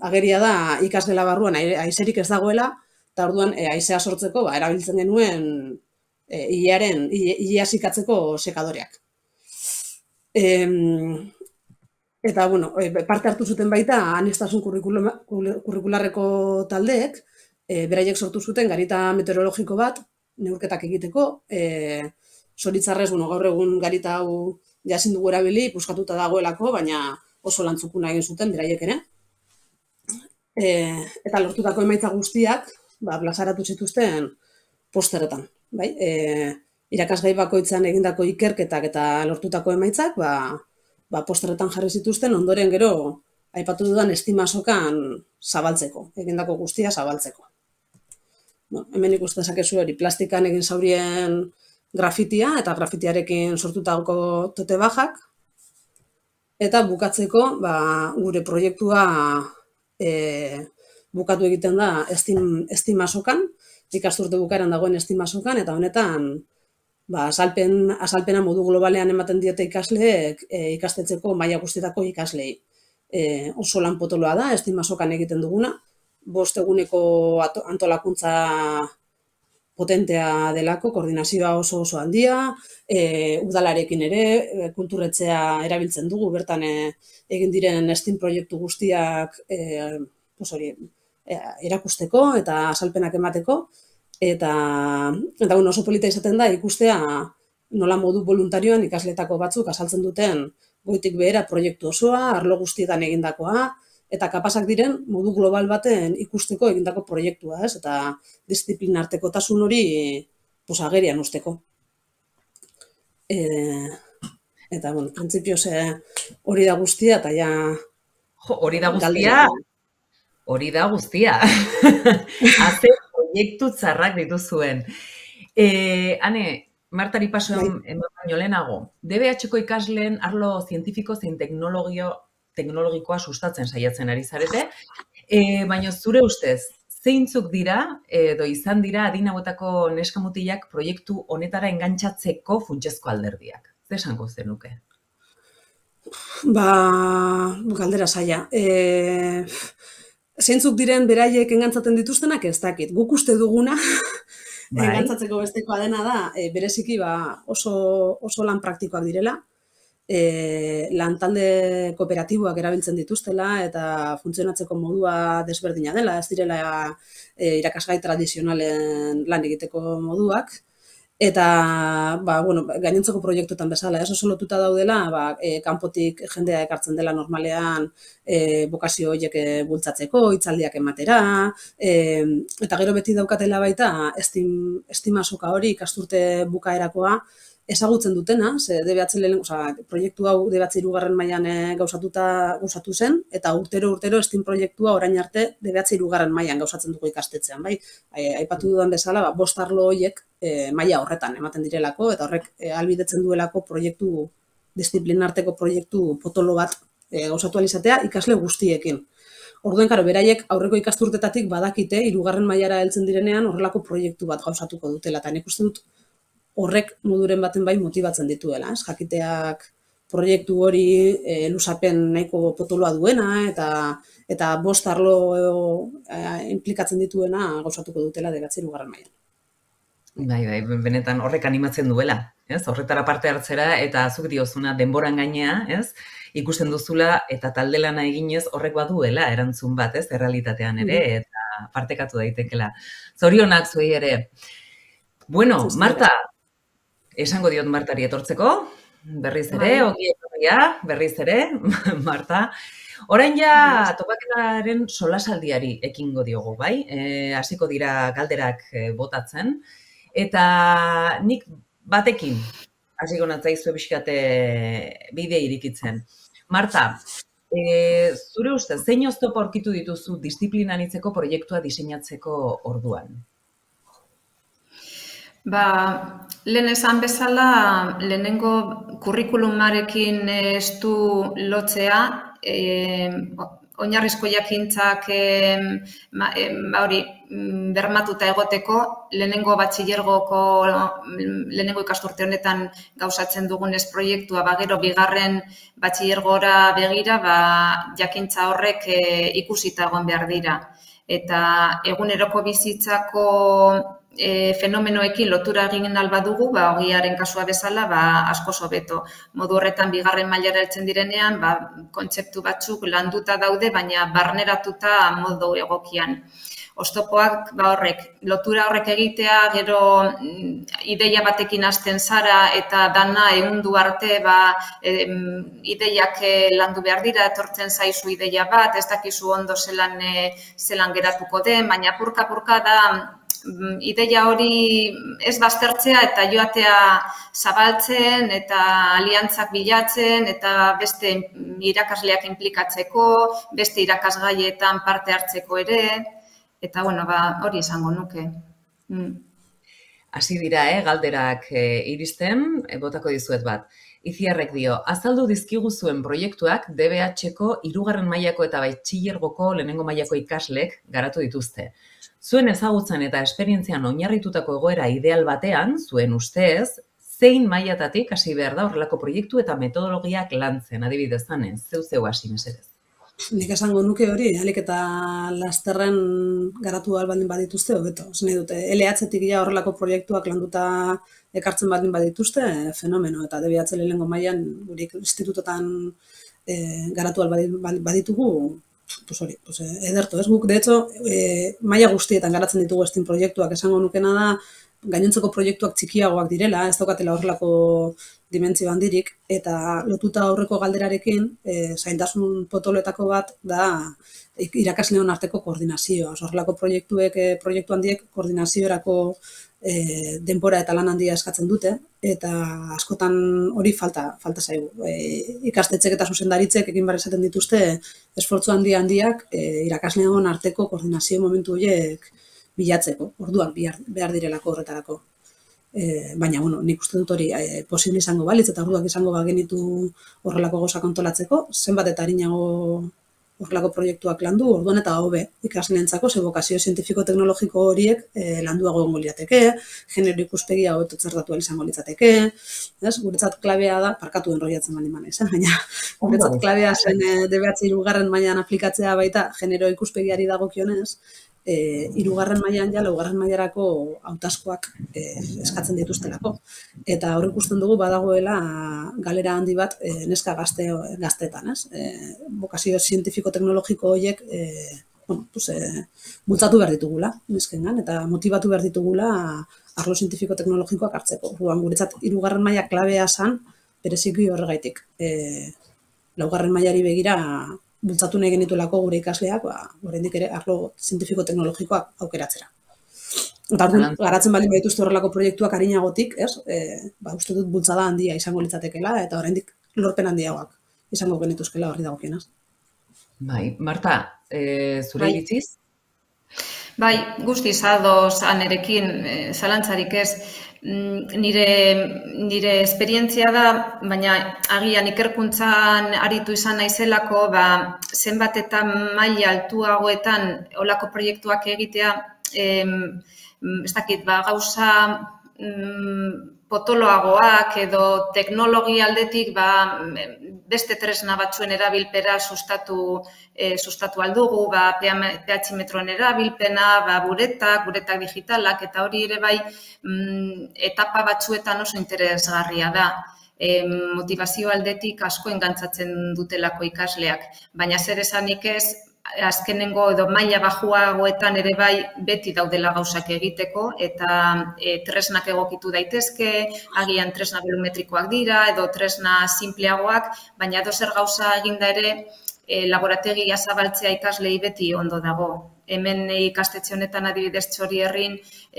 ageria da ikasgela barruan haizerik ez dagoela, eta orduan haizea sortzeko erabiltzen genuen ilea zikatzeko sekadoreak. Eta, parte hartu zuten baita aniztasun kurrikularreko taldeek, beraiek sortu zuten garita meteorologiko bat, neurketak egiteko, zoritzarrez, gaur egun garita hau jazin dugu erabili, puskatuta dagoelako, baina oso lantzukuna egin zuten beraiek ere. Eta lortutako emaitza guztiak, plazaratu zituzten posteretan. Irakasgai bakoitzan egindako ikerketak eta lortutako emaitzak, posteretan jarri zituzten, ondoren gero, aipatu dudan estimasokan zabaltzeko, egindako guztia zabaltzeko. Hemen ikusten zakezu hori, plastikan egin zaurien grafitia, eta grafitiarekin sortutako tote bajak, eta bukatzeko, gure proiektua bukatu egiten da estimasokan, ikasturte bukaeran dagoen estimasokan, eta honetan, azalpena modu globalean ematen diete ikasleek ikastetxeko maila guztietako ikaslei. Oso lan potoloa da, estimasokan egiten duguna, 5 eguneko antolakuntza potentea delako, koordinazioa oso handia, udalarekin ere, kulturretxea erabiltzen dugu, bertan egin diren STEAM proiektu guztiak erakusteko eta azalpenak emateko, eta oso polita izaten da ikustea nola modu voluntarioan ikasletako batzuk azaltzen duten goitik behera proiektu osoa, arlo guztietan egindakoa, eta kapasak diren modu global baten ikusteko egindako proiektua, eta disiplinartekotasun hori agerian usteko. Eta, printzipioz hori da guztia, eta ja... Hori da guztia. Haze proiektu txarrak dituzuen. Hane, Martari paso eman baino lehenago, DBH-ko ikasleen arlo zientifiko zein teknologikoa sustatzen saiatzen ari zarete, baina zure ustez, zeintzuk dira edo izan dira adin hauetako neskamutilak proiektu honetara engantzatzeko funtsezko alderdiak? Zer esango zenuke? Galdera zaila. Zeintzuk diren beraiek engantzaten dituztenak ez dakit. Guk uste duguna, engantzatzeko bestekoa dena da, bereziki oso lan praktikoak direla, lantalde kooperatiboak erabiltzen dituztela eta funtzionatzeko modua desberdina dela, ez direla irakasgai tradizionalen lan egiteko moduak, Eta, gainontzeko proiektuetan bezala, oso lotuta daudela, kanpotik jendea ekartzen dela normalean bokazio horiek bultzatzeko, hitzaldiak ematera, eta gero beti daukatela baita estima soka hori ikasturte bukaerakoa ezagutzen dutena, ze proiektu hau DBH hirugarren mailan gauzatu zen, eta urtero estim proiektua orain arte DBH hirugarren mailan gauzatzen dugu ikastetxean, bai? Aipatu dudan bezala, 5 arlo horiek maila horretan ematen direlako, eta horrek ahalbidetzen duelako disiplinarteko proiektu potolo bat gauzatu alizatea ikasle guztiekin. Orduen, beraiek aurreko ikasturtetatik badakite, hirugarren mailara heltzen direnean horrelako proiektu bat gauzatuko dutela, eta nik uste dut horrek moduren baten bai motibatzen dituela, jakiteak proiektu hori luzapen nahiko potoloa duena, eta 5 arlo implikatzen dituena gauzatuko dutela DBH hirugarren mailan. Bai, benetan horrek animatzen duela, ez? Horretara parte hartzera eta zuk diozuna denboran gainea, ez? Ikusten duzula eta talde lana eginez horrek baduela erantzun bat, ez? Errealitatean ere eta partekatu daitekela. Zorionak zuei ere. Bueno, Marta, esango diot Martari etortzeko, berriz ere, ongi etorria, berriz ere, Marta. Orain ja topaketaren solasaldiari ekingo diogu, bai? Hasiko dira galderak botatzen. Eta nik batekin hasiko natzaizu pixkat bide irikitzen. Marta, zure ustez, zein oztopo aurkitu dituzu disiplina anitzeko proiektua diseinatzeko orduan? Lehen esan bezala, lehenengo kurrikulumarekin estu lotzea, oinarrizko jakintzak bermatuta egoteko, lehenengo batxilergoko, lehenengo ikasturte honetan gauzatzen dugunez proiektua, gero bigarren batxilergora begira, jakintza horrek ikusita egon behar dira. Eta eguneroko bizitzako fenomenoekin lotura egin badugu, ogiaren kasua bezala, asko hobeto. Modu horretan, bigarren mailara heltzen direnean, kontzeptu batzuk landuta daude, baina barneratuta modu egokian. Oztopoak, lotura horrek egitea, gero ideia batekin hasten zara eta dana ehundu arte ideiak landu behar dira, etortzen zaizu ideia bat, ez dakizu ondo zelan geratuko den, baina purka-purka da ideia hori ez baztertzea eta joatea zabaltzen eta aliantzak bilatzen eta beste irakasleak inplikatzeko, beste irakasgaietan parte hartzeko ere, eta hori esango nuke. Hasi dira, galderak iristen, botako dizuet bat. Itziarrek dio, azaldu dizkigu zuen proiektuak DBH-ko hirugarren mailako eta batxilergoko lehenengo mailako ikaslek garatu dituzte. Zuen ezagutzan eta esperientzian oinarritutako egoera ideal batean, zuen ustez, zein mailatatik hasi behar da horrelako proiektu eta metodologiak lantzen, adibidez zanez, zeu hasi mesedez. Nik esango nuke hori, alik eta lasterren garatu baldin badituzte, hobeto. Zene dute, LH-tik ja horrelako proiektuak landuta ekartzen baldin badituzte, fenomeno, eta DBH lehenengo mailan gure institutotan garatu baditugu, ederto, ez guk, de hecho, maila guztietan garatzen ditugu estin proiektuak, esango nukena da, gainontzeko proiektuak txikiagoak direla, ez daukatela horrelako dimentsio handirik, eta lotuta aurreko galderarekin, zaintasun potoloetako bat da irakasleon arteko koordinazioa. Horrelako proiektu handiek koordinaziorako denbora eta lan handia eskatzen dute, eta askotan hori falta zaigu. Ikastetxek eta zuzendaritzek egin behar esaten dituzte esfortzu handiak irakasleon arteko koordinazio momentu horiek bilatzeko, orduak behar direlako horretarako. Baina, nik uste dut hori posible izango balitz eta orduak izango bagenitu horrelako gauza kontolatzeko, zenbat eta arinago horrelako proiektuak landu, orduan eta hobe ikasleentzako ze bokazio zientifiko-teknologiko horiek landuago egongo lirateke, genero ikuspegia hobeto txertatu izango litzateke, guretzat klabea da, parkatu enroiatzen baldin manez, baina guretzat klabea zen DBH hirugarren mailan aplikatzea baita genero ikuspegiari dagokionez, hirugarren mailan ja laugarren mailarako hautazkoak eskatzen dituztelako. Eta hor ikusten dugu badagoela galera handi bat neska gazteetan, ez? Bokazio zientifiko-teknologiko horiek bultzatu behar ditugula, neskengan, eta motibatu behar ditugula arlo zientifiko-teknologikoak hartzeko. Orduan, guretzat, 3. maila klabea zen, bereziki horregaitik. Laugarren mailari begira, bultzatu nahi genituelako gure ikasleak, oraindik ere arlo zientifiko-teknologikoak aukeratzera. Eta garatzen baldin baituzte horrelako proiektuak arinagotik, uste dut bultzada handia izango litzatekeela, eta oraindik lorpen handiagoak izango genituzkela horri dagokienaz. Bai, Marta, zure iritziz? Bai, guztiz ados anerekin, zalantzarik ez. Nire esperientzia da, baina agian ikerkuntzan aritu izan naizelako, zenbat eta maila altuagoetan olako proiektuak egitea, ez dakit, gauza potoloagoak edo teknologia aldetik beste tresna batzuen erabilpera sustatu aldugu, pH-metroen erabilpena, buretak digitalak, eta hori ere bai etapa batzuetan oso interesgarria da. Motivazio aldetik asko engantzatzen dutelako ikasleak, baina zer esanik ez, azkenengo edo maila bajuagoetan ere bai beti daudela gauzak egiteko eta tresnak egokitu daitezke, agian tresna volumetrikoak dira edo tresna simpleagoak, baina edozer gauza eginda ere laborategia zabaltzea ikaslei beti ondo dago. Hemen ikastetxe honetan adibidez Txorierrin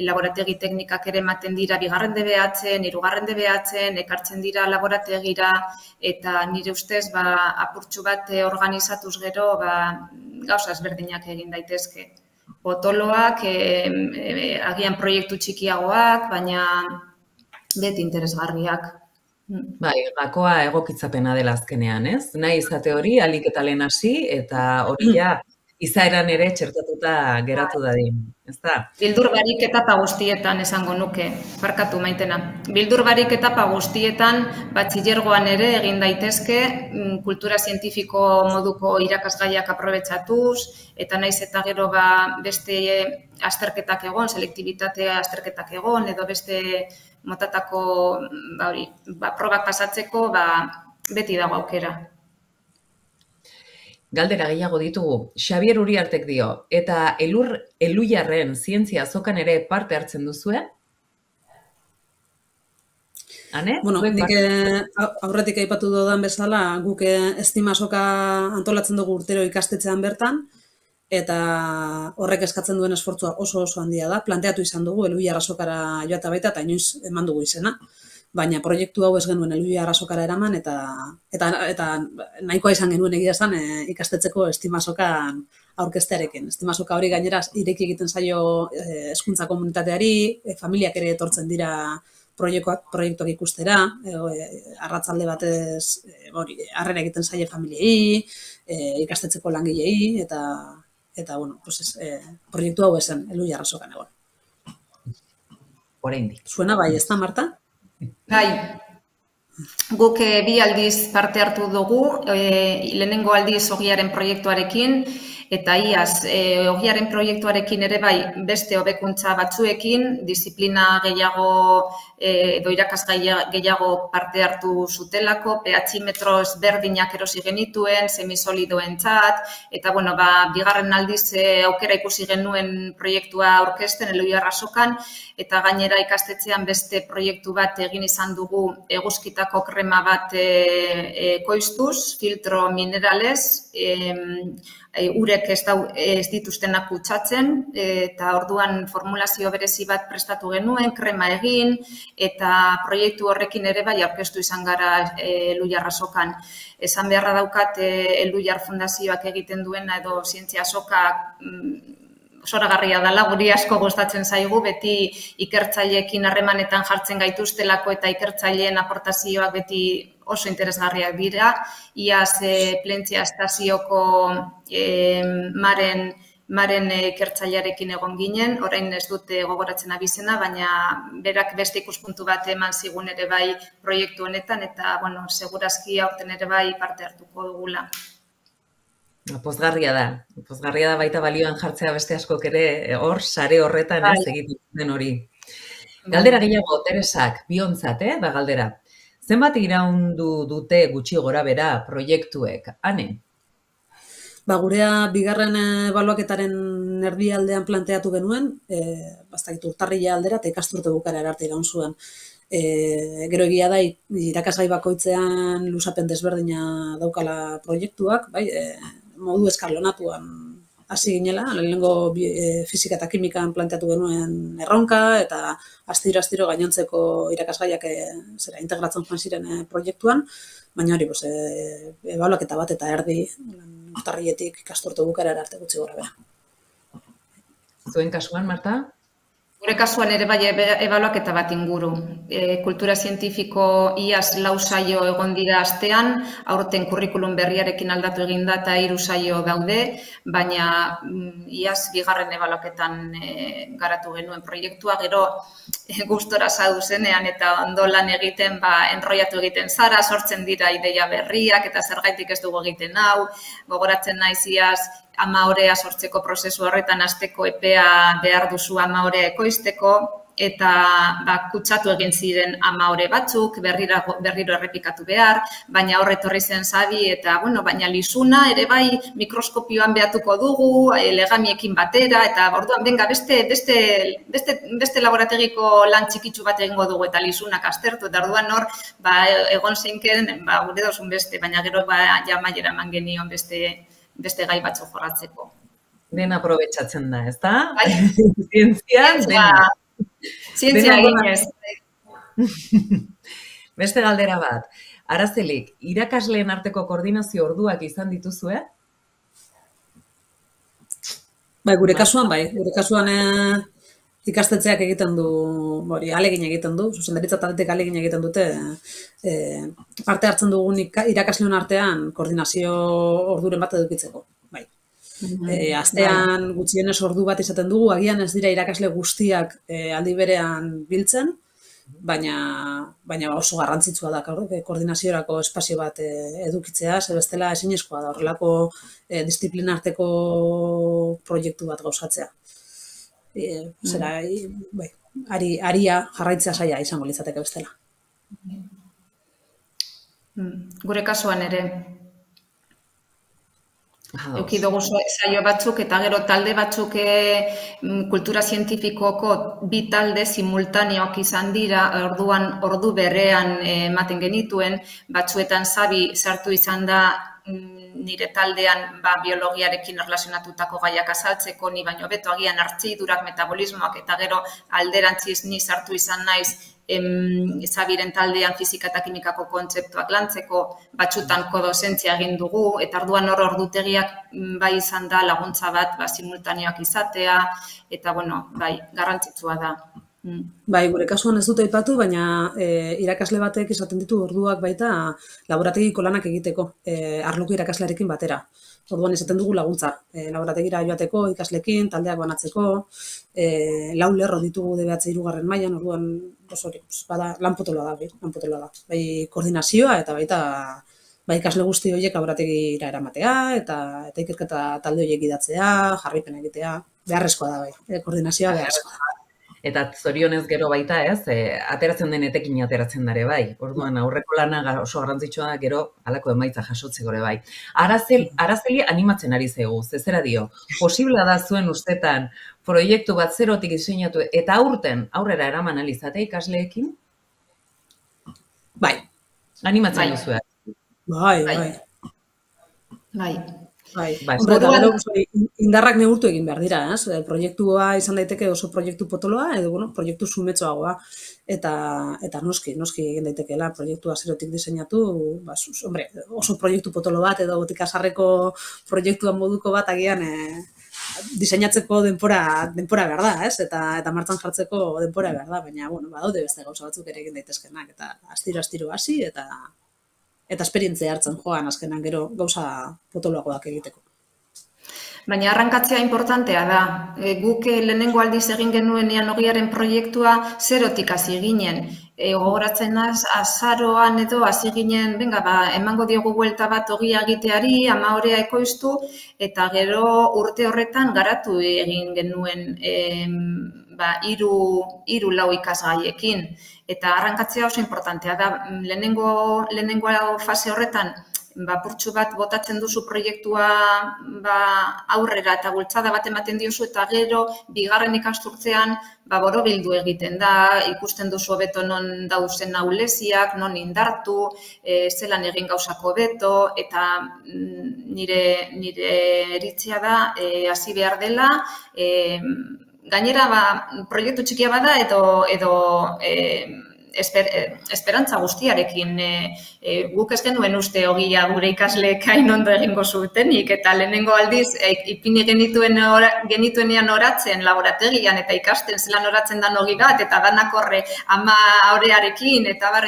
laborategi teknikak ere ematen dira 2. DBH-en, 3. DBH-en, ekartzen dira laborategira eta nire ustez apurtxu bat organizatuz gero gauza ezberdinak egin daitezke. Potoloak, agian proiektu txikiagoak, baina beti interesgarriak. Bai, gakoa egokitzapena dela azkenean, ez? Nahi izate hori, alik eta lehen hasi, eta hori izaeran ere txertatuta geratu dadin, ezta? Bildur barik etapa guztietan esango nuke, barkatu Maitena. Bildur barik etapa guztietan, batxillergoan ere egin daitezke, kultura zientifiko moduko irakasgaiak aprobetxatuz, eta naiz eta gero beste azterketak egon, selektibitatea azterketak egon, edo beste motatako probak pasatzeko, beti dago aukera. Galdera gehiago ditugu. Xabier Uriartek dio, eta Elhuyarren zientzia azokan ere parte hartzen duzue? Ane? Bueno, nik aurretik aipatu dudan bezala, guk estima azoka antolatzen dugu urtero ikastetxean bertan, eta horrek eskatzen duen esfortzua oso handia da. Planteatu izan dugu Elhuyar azokara joata baita, eta inoiz eman dugu izena. Baina proiektu hau ez genuen Elhuyar azokara eraman, eta nahikoa izan genuen egia esan ikastetxeko estima azokan aurkeztearekin. Estima azoka hori gainera ireki egiten zaio hezkuntza komunitateari, familiak ere etortzen dira proiektuak ikustera, arratzalde batez harrera egiten zaie familiei, ikastetxeko langilei, eta proiektu hau esan Elhuyar azokan egon. Oraindik. Zuena bai, ez da, Marta? Bai, guk 2 aldiz parte hartu dugu, lehenengo aldiz Ogiaren proiektuarekin, eta iaz, Ogiaren proiektuarekin ere bai beste hobekuntza batzuekin, disiplina gehiago edo irakasgai gehiago parte hartu zutelako, pH-metro ezberdinak erosi genituen, semisolidoentzat, eta bigarren aldiz aukera ikusi genuen proiektua aurkezten Elhuyar azokan, eta gainera ikastetxean beste proiektu bat egin izan dugu eguzkitako krema bat koiztuz, filtro mineralez, urek ez dituztenak kutsatzen, eta orduan formulazio berezi bat prestatu genuen, krema egin, eta proiektu horrekin ere bai aurkeztu izan gara Elhuyar azokan. Esan beharra daukat Elhuyar Fundazioak egiten duena edo zientzia azokak zoragarria dela, guri asko gustatzen zaigu, beti ikertzaileekin harremanetan jartzen gaituztelako eta ikertzaileen aportazioak beti oso interesgarriak dira. Iaz Plentzia estazioko maren ikertzailearekin egon ginen, orain ez dute gogoratzen abizena, baina berak beste ikuspuntu bat eman zigun ere bai proiektu honetan, eta segurazki aurten ere bai parte hartuko dugula. Pozgarria da baita balioan jartzea beste askok ere hor, sare horretan ez egiten den hori. Galdera gehiago, Teresak, biontzat, da galdera. Zenbat iraundu dute gutxi gora bera proiektuek, Ane? Gurea bigarren ebaluaketaren erdialdean planteatu genuen, bastakit urtarrila aldera eta ikasturte bukaera arte iraun zuen. Gero egia da irakasgai bakoitzean luzapen desberdina daukala proiektuak, bai, modu eskalonatuan hasi ginela, lehenengo fisika eta kimikan planteatu genuen erronka, eta astiro gainontzeko irakasgaiak integratzen joan ziren proiektuan, baina hori, ebaluaketa bat eta erdi, urtarriletik ikasturte bukaera arte gutxi gora bera. Zuen kasuan, Marta? Gure kasuan ere bai ebaluaketa bat inguru. Kultura zientifiko iaz 4 saio egon dira astean, aurten kurrikulum berriarekin aldatu egin da eta 3 saio daude, baina iaz 2. ebaluaketan garatu genuen proiektua, gero gustora zaudu zenean eta ondo lan egiten, enroiatu egiten zara, sortzen dira ideia berriak eta zergaitik ez dugu egiten hau, gogoratzen naiz iaz 10 orea sortzeko prozesu horretan hasteko epea behar duzu 10 orea ekoizteko, eta kutsatu egin ziren 10 ore batzuk, berriro errepikatu behar, baina horre etorri zen Xabi, eta, baina Lizuna ere bai mikroskopioan behatuko dugu, legamiekin batera, eta orduan, benga, beste laborategiko lan txikitsu bat egingo dugu, eta Lizunak aztertu, eta orduan hor, egon zeinken, gure dozun beste, baina gero jamaiera eman genion beste gai batzu jorratzeko. Dena aprobetxatzen da, ez da? Zientzian, dena. Zientzia eginez. Beste galdera bat. Arazelik, irakasleen arteko koordinazio orduak izan dituzue? Gure kasuan ikastetxeak egiten du, alegin egiten du, zuzendaritza taldetik alegin egiten dute, parte hartzen dugun irakasleon artean koordinazio orduren bat edukitzeko. Astean gutxienez ordu bat izaten dugu, agian ez dira irakasle guztiak aldi berean biltzen, baina oso garrantzitsua da koordinaziorako espazio bat edukitzea, ze bestela ezinezkoa da horrelako disiplina arteko proiektu bat gauzatzea. Aria jarraitzea zaila izango litzateke bestela. Gure kasuan ere. Euki dugu saio batzuk eta gero talde batzuk kultura zientifikoko 2 talde simultaneoak izan dira, orduan ordu berean ematen genituen, batzuetan Xabi sartu izan da nire taldean biologiarekin erlazionatutako gaiak azaltzeko, ni baino beto agian hartzidurak, metabolismoak eta gero alderantziz ni sartu izan naiz Xabiren taldean fisika eta kimikako kontzeptuak lantzeko, batzutan kodozentzia egin dugu, eta orduan ordutegiak bai izan da laguntza bat simultaneoak izatea, eta garrantzitsua da. Gure kasuan ez dut aipatu, baina irakasle batek izaten ditu orduak baita laborategiko lanak egiteko, arloko irakaslearekin batera. Orduan izaten dugu laguntza, laborategira joateko, ikaslekin, taldeak banatzeko, 4 lerro ditugu DBH 3. mailan, orduan lan potoloa da. Bai koordinazioa eta baita ikasle guzti horiek laborategira eramatea, eta ikerketa talde horiek idatzea, jarraipen egitea, beharrezkoa da bai, koordinazioa beharrezkoa da. Eta zorionez gero baita ez, ateratzen den etekin ateratzen dare bai. Orduan aurreko lana oso garrantzitsua da gero halako emaitza jasotzeko ere bai. Arazeli animatzen ari zaigu, zera dio, posiblea da zuen ustetan proiektu bat zerotik diseinatu eta aurrera eraman alizatea ikasleekin? Bai. Animatzen duzue. Indarrak neurtu egin behar dira, proiektua izan daiteke oso proiektu potoloa, edo proiektu sumetsoagoa, eta noski egin daitekeela proiektua zerotik diseinatu, oso proiektu potolo bat, edo botikasarreko proiektuan moduko bat agian diseinatzeko denbora behar da, eta martxan jartzeko denbora behar da, baina badaude beste gauza batzuk ere egin daitezkenak, eta astiro hasi, eta esperientzia hartzen joan azkenan gero gauza potoloagoak egiteko. Baina arrankatzea importantea da. Guk lehenengo aldiz egin genuenean ogiaren proiektua zerotik hasi ginen. Gogoratzen azaroan edo hasi ginen, emango diogu buelta bat ogia egiteari, 10 orea ekoiztu, eta gero urte horretan garatu egin genuen 3-4 ikasgaiekin. Eta arrankatzea oso importantea da. Lehenengo fase horretan purtsu bat botatzen duzu proiektua aurrera eta bultzada bat ematen diozu eta gero bigarren ikasturtzean borobildu egiten da, ikusten duzu hobeto non dauzen ahuleziak, non indartu, zelan egin gauzako hobeto eta nire iritzia da hasi behar dela, gainera proiektu txikia bada edo esperantza guztiarekin. Guk ez genuen uste ogia gure ikasleek hain ondo egingo zutenik eta lehenengo aldiz ipini genituenean oratzen laborategian eta ikasten zelan oratzen dan ogi bat eta danak horre ama orearekin eta bar,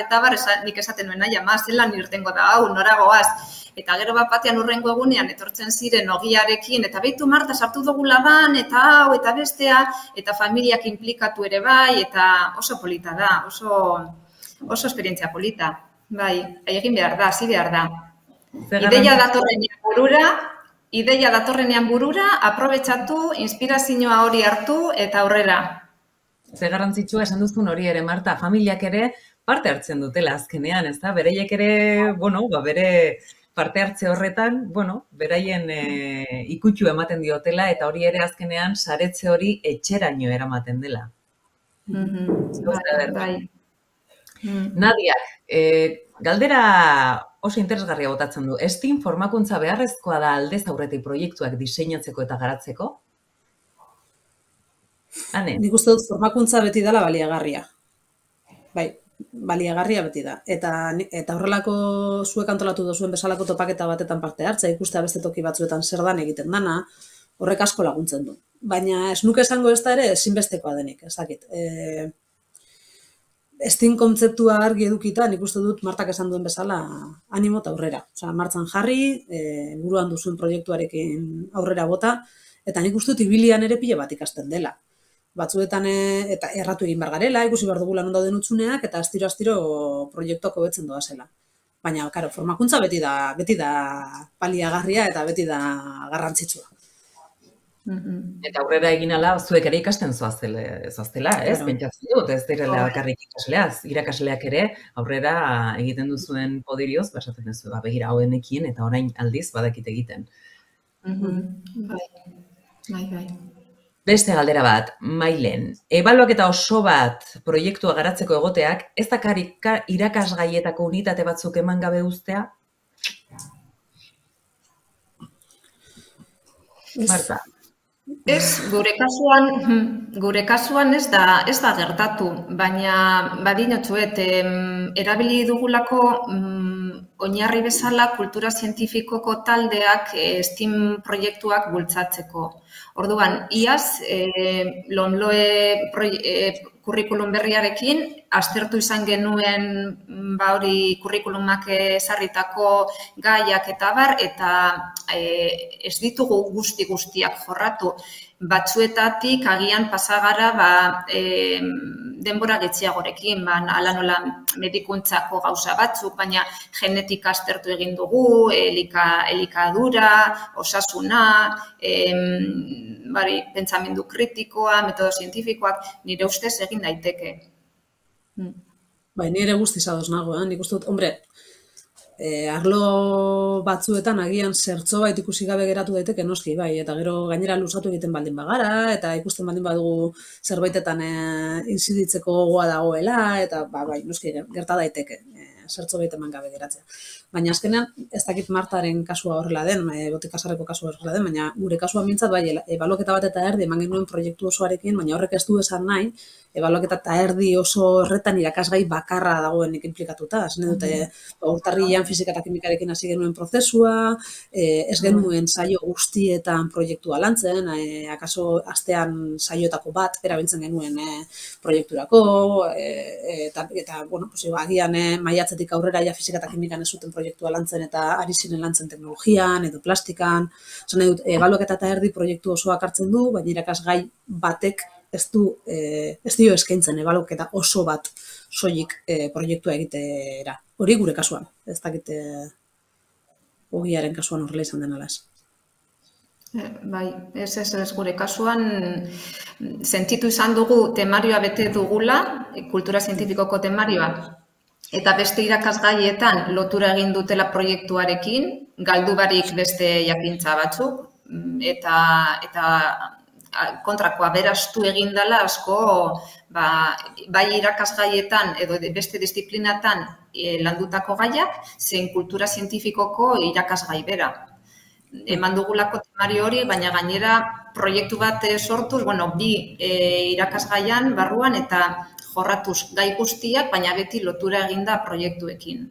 nik esaten nuen nahi ama zelan irtengo da hau, noragoaz. Eta gero bat batean urrengo egunean etortzen ziren ogiarekin, eta behitu Marta sartu dugula ban, eta hau, eta bestea, eta familiak implikatu ere bai, eta oso polita da, oso esperientzia polita. Bai, egin behar da, hasi behar da. Ideia datorrenean burura, aprobetxatu, inspirazioa hori hartu, eta aurrera. Ze garrantzitsua esan duzun hori ere, Marta, familiak ere parte hartzen dutela azkenean, ez da? Bereiek ere, bere parte hartze horretan, beraien ikutxu ematen diotela eta hori ere azkenean saretze hori etxeraino eramaten dela. Nadiak, galdera oso interesgarria botatzen du. STEAM formakuntza beharrezkoa da aldez aurretik proiektuak diseinatzeko eta garatzeko? Nik uste dut formakuntza beti dela baliagarria. Bai. Baliagarria beti da. Eta horrelako zuek antolatu duzuen bezalako topaketa batetan parte hartza, ikustea beste toki batzuetan zer dan egiten dana, horrek asko laguntzen du. Baina ez nuke esango ez da ere ezinbestekoa denik, ez dakit. STEAM kontzeptua argi edukita, nik uste dut Martak esan duen bezala animo eta aurrera. Osa, martzan jarri, buruan duzuen proiektuarekin aurrera bota, eta nik uste dut ibilian ere pile bat ikasten dela. Batzuetan eta erratu egin behar garela, ikusi behar dugula non dauden utzuneak, eta astiro proiektuak hobetzen doa zela. Baina, karo, formakuntza beti da baliagarria eta beti da garrantzitsua. Eta aurrera egin ala, zuek ere ikasten zoaztela, ez? Pentsatzen dut, ez direla bakarrik irakasleak ere aurrera egiten duzuen podirioz, basaten duzu, begira hauenekin eta orain aldiz badakit egiten. Bai. Beste galdera bat, Mailen, ebaluaketa oso bat proiektua garatzeko egoteak, ez dakar irakasgaietako unitate batzuk eman gabe uztea? Marta. Ez, gure kasuan ez da gertatu, baina badinotzuet, erabili dugulako oinarri bezala kultura zientifikoko taldeak STEAM proiektuak bultzatzeko. Orduan, iaz, LOMLOE kurrikulum berriarekin, aztertu izan genuen hori kurrikulumak ezarritako gaiak eta bar, eta ez ditugu guztiak jorratu. Batzuetatik agian pasagara denbora getziagorekin, ala nola medikuntzako gauza batzuk, baina genetika aztertu egin dugu, elikadura, osasuna, pentsamendu kritikoa, metodo zientifikoak, nire ustez egin daiteke. Bai, nire guztiz ados nago, nik uste dut, hombre, arlo batzuetan agian zertzo bait ikusi gabe geratu daiteke noski, bai, eta gero gainera luzatu egiten baldin bagara, eta ikusten baldin badugu zerbaitetan inziditzeko gogoa dagoela, eta bai, noski gerta daiteke, zertzo bait eman gabe geratzea. Baina azkenean, ez dakit Martaren kasua horrela den, botikasarreko kasua horrela den, baina gure kasua mintzat, bai, ebaluaketa bat eta erdi eman genuen proiektu osoarekin, baina horrek ez du esan nahi, ebaluaketa eta erdi oso horretan irakasgai bakarra dagoenik implikatuta. Zene dute, urtarrilean fisika eta kimikarekin hasi genuen prozesua, ez genuen saio guztietan proiektua lantzen, akaso astean saioetako bat erabiltzen genuen proiekturako, eta bueno, agian maiatzetik aurrera ja fisika eta kimikan ez zuten proiektua lantzen eta ari ziren lantzen teknologian edo plastikan. Zene dut, ebaluaketa eta erdi proiektu osoak hartzen du, baina irakasgai batek ez dio eskaintzen ebaluaketa oso bat soilik proiektua egitera. Hori gure kasuan, ez dakit ogiaren kasuan horrela izan den alaz. Bai, ez gure kasuan sentitu izan dugu temarioa bete dugula, kultura zientifikoko temarioa, Eta beste irakasgaietan lotura egin dutela proiektuarekin, galdu barik beste jakintza batzuk, eta kontrakoa berastu egin dela asko, bai irakasgaietan edo beste disiplinatan landutako gaiak, zein kultura zientifikoko irakasgai bera. Eman dugulako temario hori, baina gainera proiektu bat sortuz, bi irakasgaian barruan eta jorratuz gai guztiak, baina beti lotura eginda proiektuekin.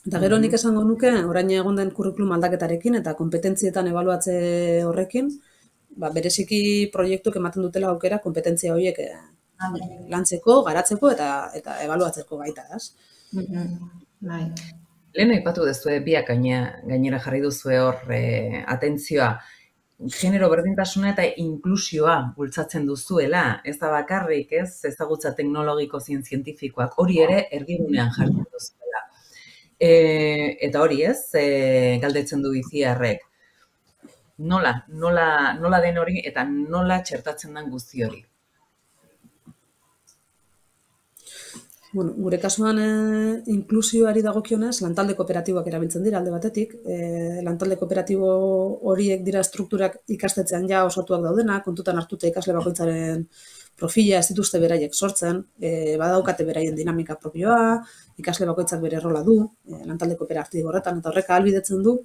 Eta gero nik esango nuke, orain egon den kurrikulum aldaketarekin eta kompetentzietan ebaluatze horrekin, bereziki proiektuk ematen dutela aukera kompetentzia horiek lantzeko, garatzeko eta ebaluatzeko baita, ez? Bai. Lehen aipatu duzue, biak gainera jarri duzue hor atentzioa, genero berdintasuna eta inklusioa bultzatzen duzuela, ez da bakarrik, ez ezagutza teknologiko zientifikoak, hori ere erdigunean jartzen duzuela. Eta hori ez, galdetzen du Itziarrek, nola den hori eta nola txertatzen den guzti hori? Bueno, gure kasuan inklusioari dagokionez, lantalde kooperatiboak erabiltzen dira alde batetik. Lantalde kooperatibo horiek dira strukturak ikastetzean ja osatuak daudenak, kontutan hartuta ikasle bakoitzaren profila ez dituzte beraiek sortzen, badaukate beraien dinamika propioa, ikasle bakoitzak bere rola du, lantalde kooperatibo horretan, eta horrek ahalbidetzen du,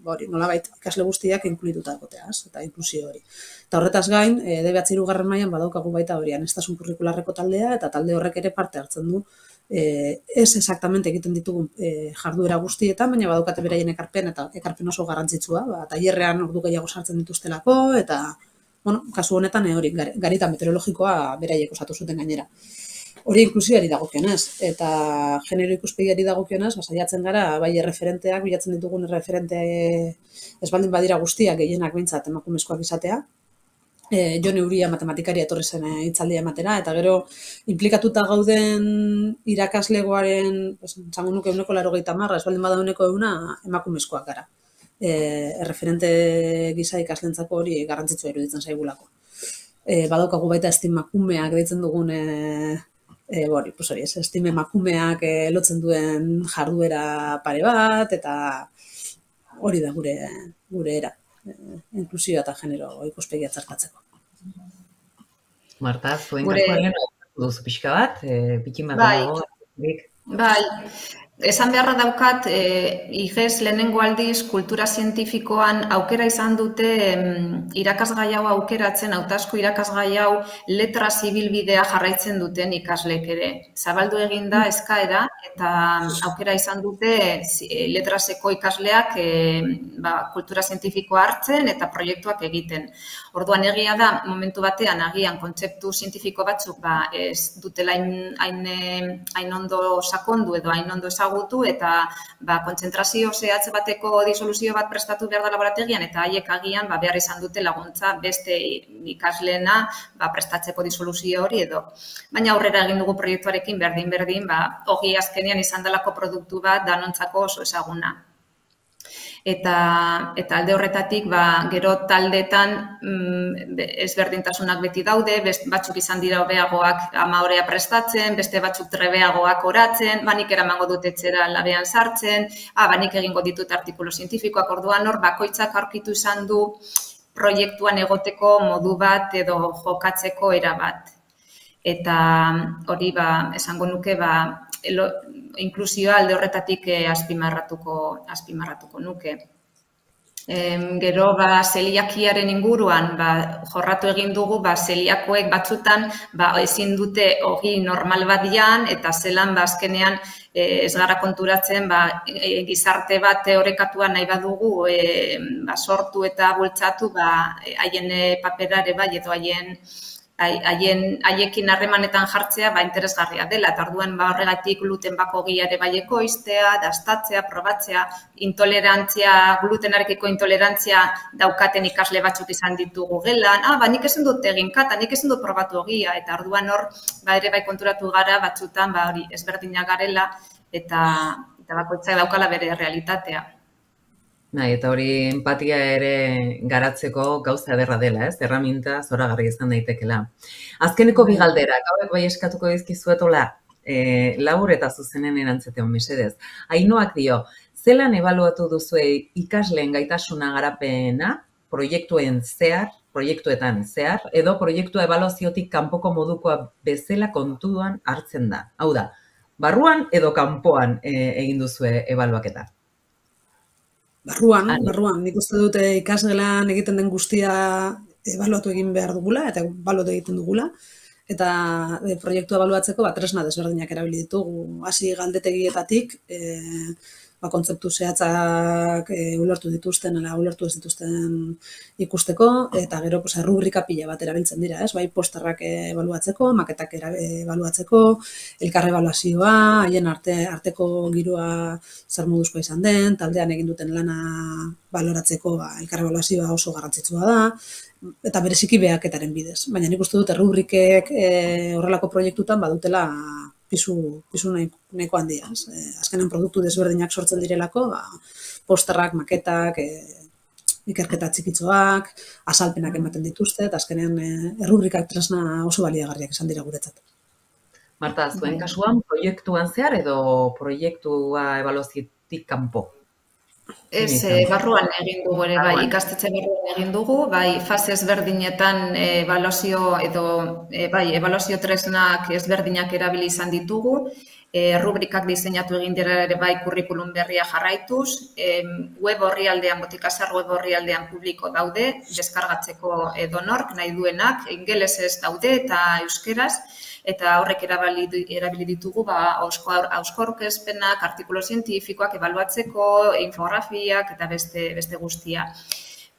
hori, nolabait ikasle guztiak inkluituta egoteaz, eta inklusio hori. Eta horretaz gain, DBH-hirugarren mailan badaukagu baita hori aniztasun kurrikularreko taldea, eta talde horrek ere parte hartzen du, ez exactamente egiten ditugun jarduera guztietan, baina badaukate beraien ekarpen, eta ekarpen oso garrantzitsua, tailerrean ordu gehiago sartzen dituztelako, eta kasu honetan hori garita meteorologikoa beraiek osatu zuten gainera. Hori inklusioari dagokionez, eta genero ikuspegiari dagokionez, saiatzen gara, bai erreferenteak, bilatzen ditugun erreferente ez baldin badira guztiak gehienak behintzat emakumezkoak izatea. Jone Uria matematikaria etorri zen hitzaldia ematera, eta gero implikatuta gauden irakaslegoaren, esango nuke 90%, ez baldin bada 100% emakumezkoak gara. Erreferente gisa ikaslentzako hori garrantzitsua iruditzen zaigulako. Badaukagu baita estimakumeak deitzen dugun estimakumeak lotzen duen jarduera pare bat, eta hori da gure era, inklusioa eta genero ikuspegia txertatzeko. Marta, zuen kasuan duzu pixka bat, pikin bat dago. Bai, esan beharra daukat, IGES lehenengo aldiz kultura zientifikoan aukera izan dute irakasgai hau aukeratzen, hautazko irakasgai hau letra zibilbidea jarraitzen duten ikaslek ere. Zabaldu egin da eskaera eta aukera izan dute letraseko ikasleak kultura zientifikoa hartzen eta proiektuak egiten. Orduan egia da, momentu batean agian kontzeptu zientifiko batzuk ez dutela hain ondo sakondu edo hain ondo ezagutu eta kontzentrazio zehatz bateko disoluzio bat prestatu behar da laborategian eta haiek agian behar izan dute laguntza beste ikasleena prestatzeko disoluzio hori edo. Baina aurrera egin dugu proiektuarekin berdin, hori azkenean izan delako produktu bat danontzako oso ezaguna. Eta alde horretatik, gero taldetan ezberdintasunak beti daude, batzuk izan dira hobeagoak amaorea prestatzen, beste batzuk trebeagoak oratzen, nik eramango dut etxera labean sartzen, nik egingo ditut artikulu zientifikoak, orduan hor bakoitzak aurkitu izan du proiektuan egoteko modu bat edo jokatzeko era bat. Eta hori esango nuke inklusioa alde horretatik azpimarratuko nuke. Gero zeliakiaren inguruan jorratu egin dugu zeliakoek batzutan ezin dute ogi normal bat jan eta zelan azkenean ez gara konturatzen gizarte bat teorekatua nahi badugu sortu eta bultzatu haien paperare edo haiekin harremanetan jartzea interesgarria dela, eta orduan horregatik glutenbako ogiare ekoiztea, dastatzea, probatzea, glutenarekiko intolerantzia daukaten ikasle batzuk izan ditugu gelan, nik ezin dut egin kata, nik ezin dut probatu ogia, eta orduan hor ere konturatu gara batzutan ezberdinak garela eta bakoitzak daukala bere realitatea. Eta hori empatia ere garatzeko gauza ederra dela, erraminta zoragarri izan daitekela. Azkeneko bi galderak, hauek bai eskatuko dizkizuetola, labur eta zuzenen erantzeteon mesedez. Ainoak dio, zelan ebaluatu duzue ikasleen gaitasuna garapena, proiektuetan zehar, edo proiektua ebaluaziotik kanpoko modukoa bezala kontuan hartzen da. Hau da, barruan edo kanpoan egin duzue ebaluaketa? Barruan, nik uste dute ikasgelan egiten den guztia ebaluatu egin behar dugula, eta ebaluatu egiten dugula, eta proiektua ebaluatzeko tresna desberdinak erabili ditugu. Hasi galdetegietatik, kontzeptu zehatzak ulertu dituzten, ulertu ez dituzten ikusteko, eta gero rubrika pila bat erabiltzen dira, bai posterrak ebaluatzeko, maketak ebaluatzeko, elkar ebaluazioa, haien arteko giroa zer moduzkoa izan den, taldean egin duten lana baloratzeko elkar ebaluazioa oso garrantzitsua da, eta bereziki behaketaren bidez. Baina nik uste dute rubrikek horrelako proiektutan badutela pisu nahiko handia. Azkenen produktu desberdinak sortzen direlako, posterrak, maketak, ikerketa txikitzoak, azalpenak ematen dituzte, eta azkenean rubrikak tresna oso baliagarriak izan dira guretzat. Marta, zuen kasuan proiektuan zehar edo proiektua ebaluaziotik kanpo? Ez, barruan egin dugu ere, bai, ikastetxe barruan egin dugu, bai, fase ezberdinetan ebaluazio edo, bai, ebaluazio tresnak ezberdinak erabili izan ditugu, rubrikak diseinatu egin dira ere bai kurrikulum berria jarraituz, web orrialdean, Botikasar web orrialdean publiko daude, deskargatzeko edonork nahi duenak, ingelesez daude eta euskeraz, eta horrek erabili ditugu ausko aurkezpenak, artikulu zientifikoak ebaluatzeko, infografiak eta beste guztia.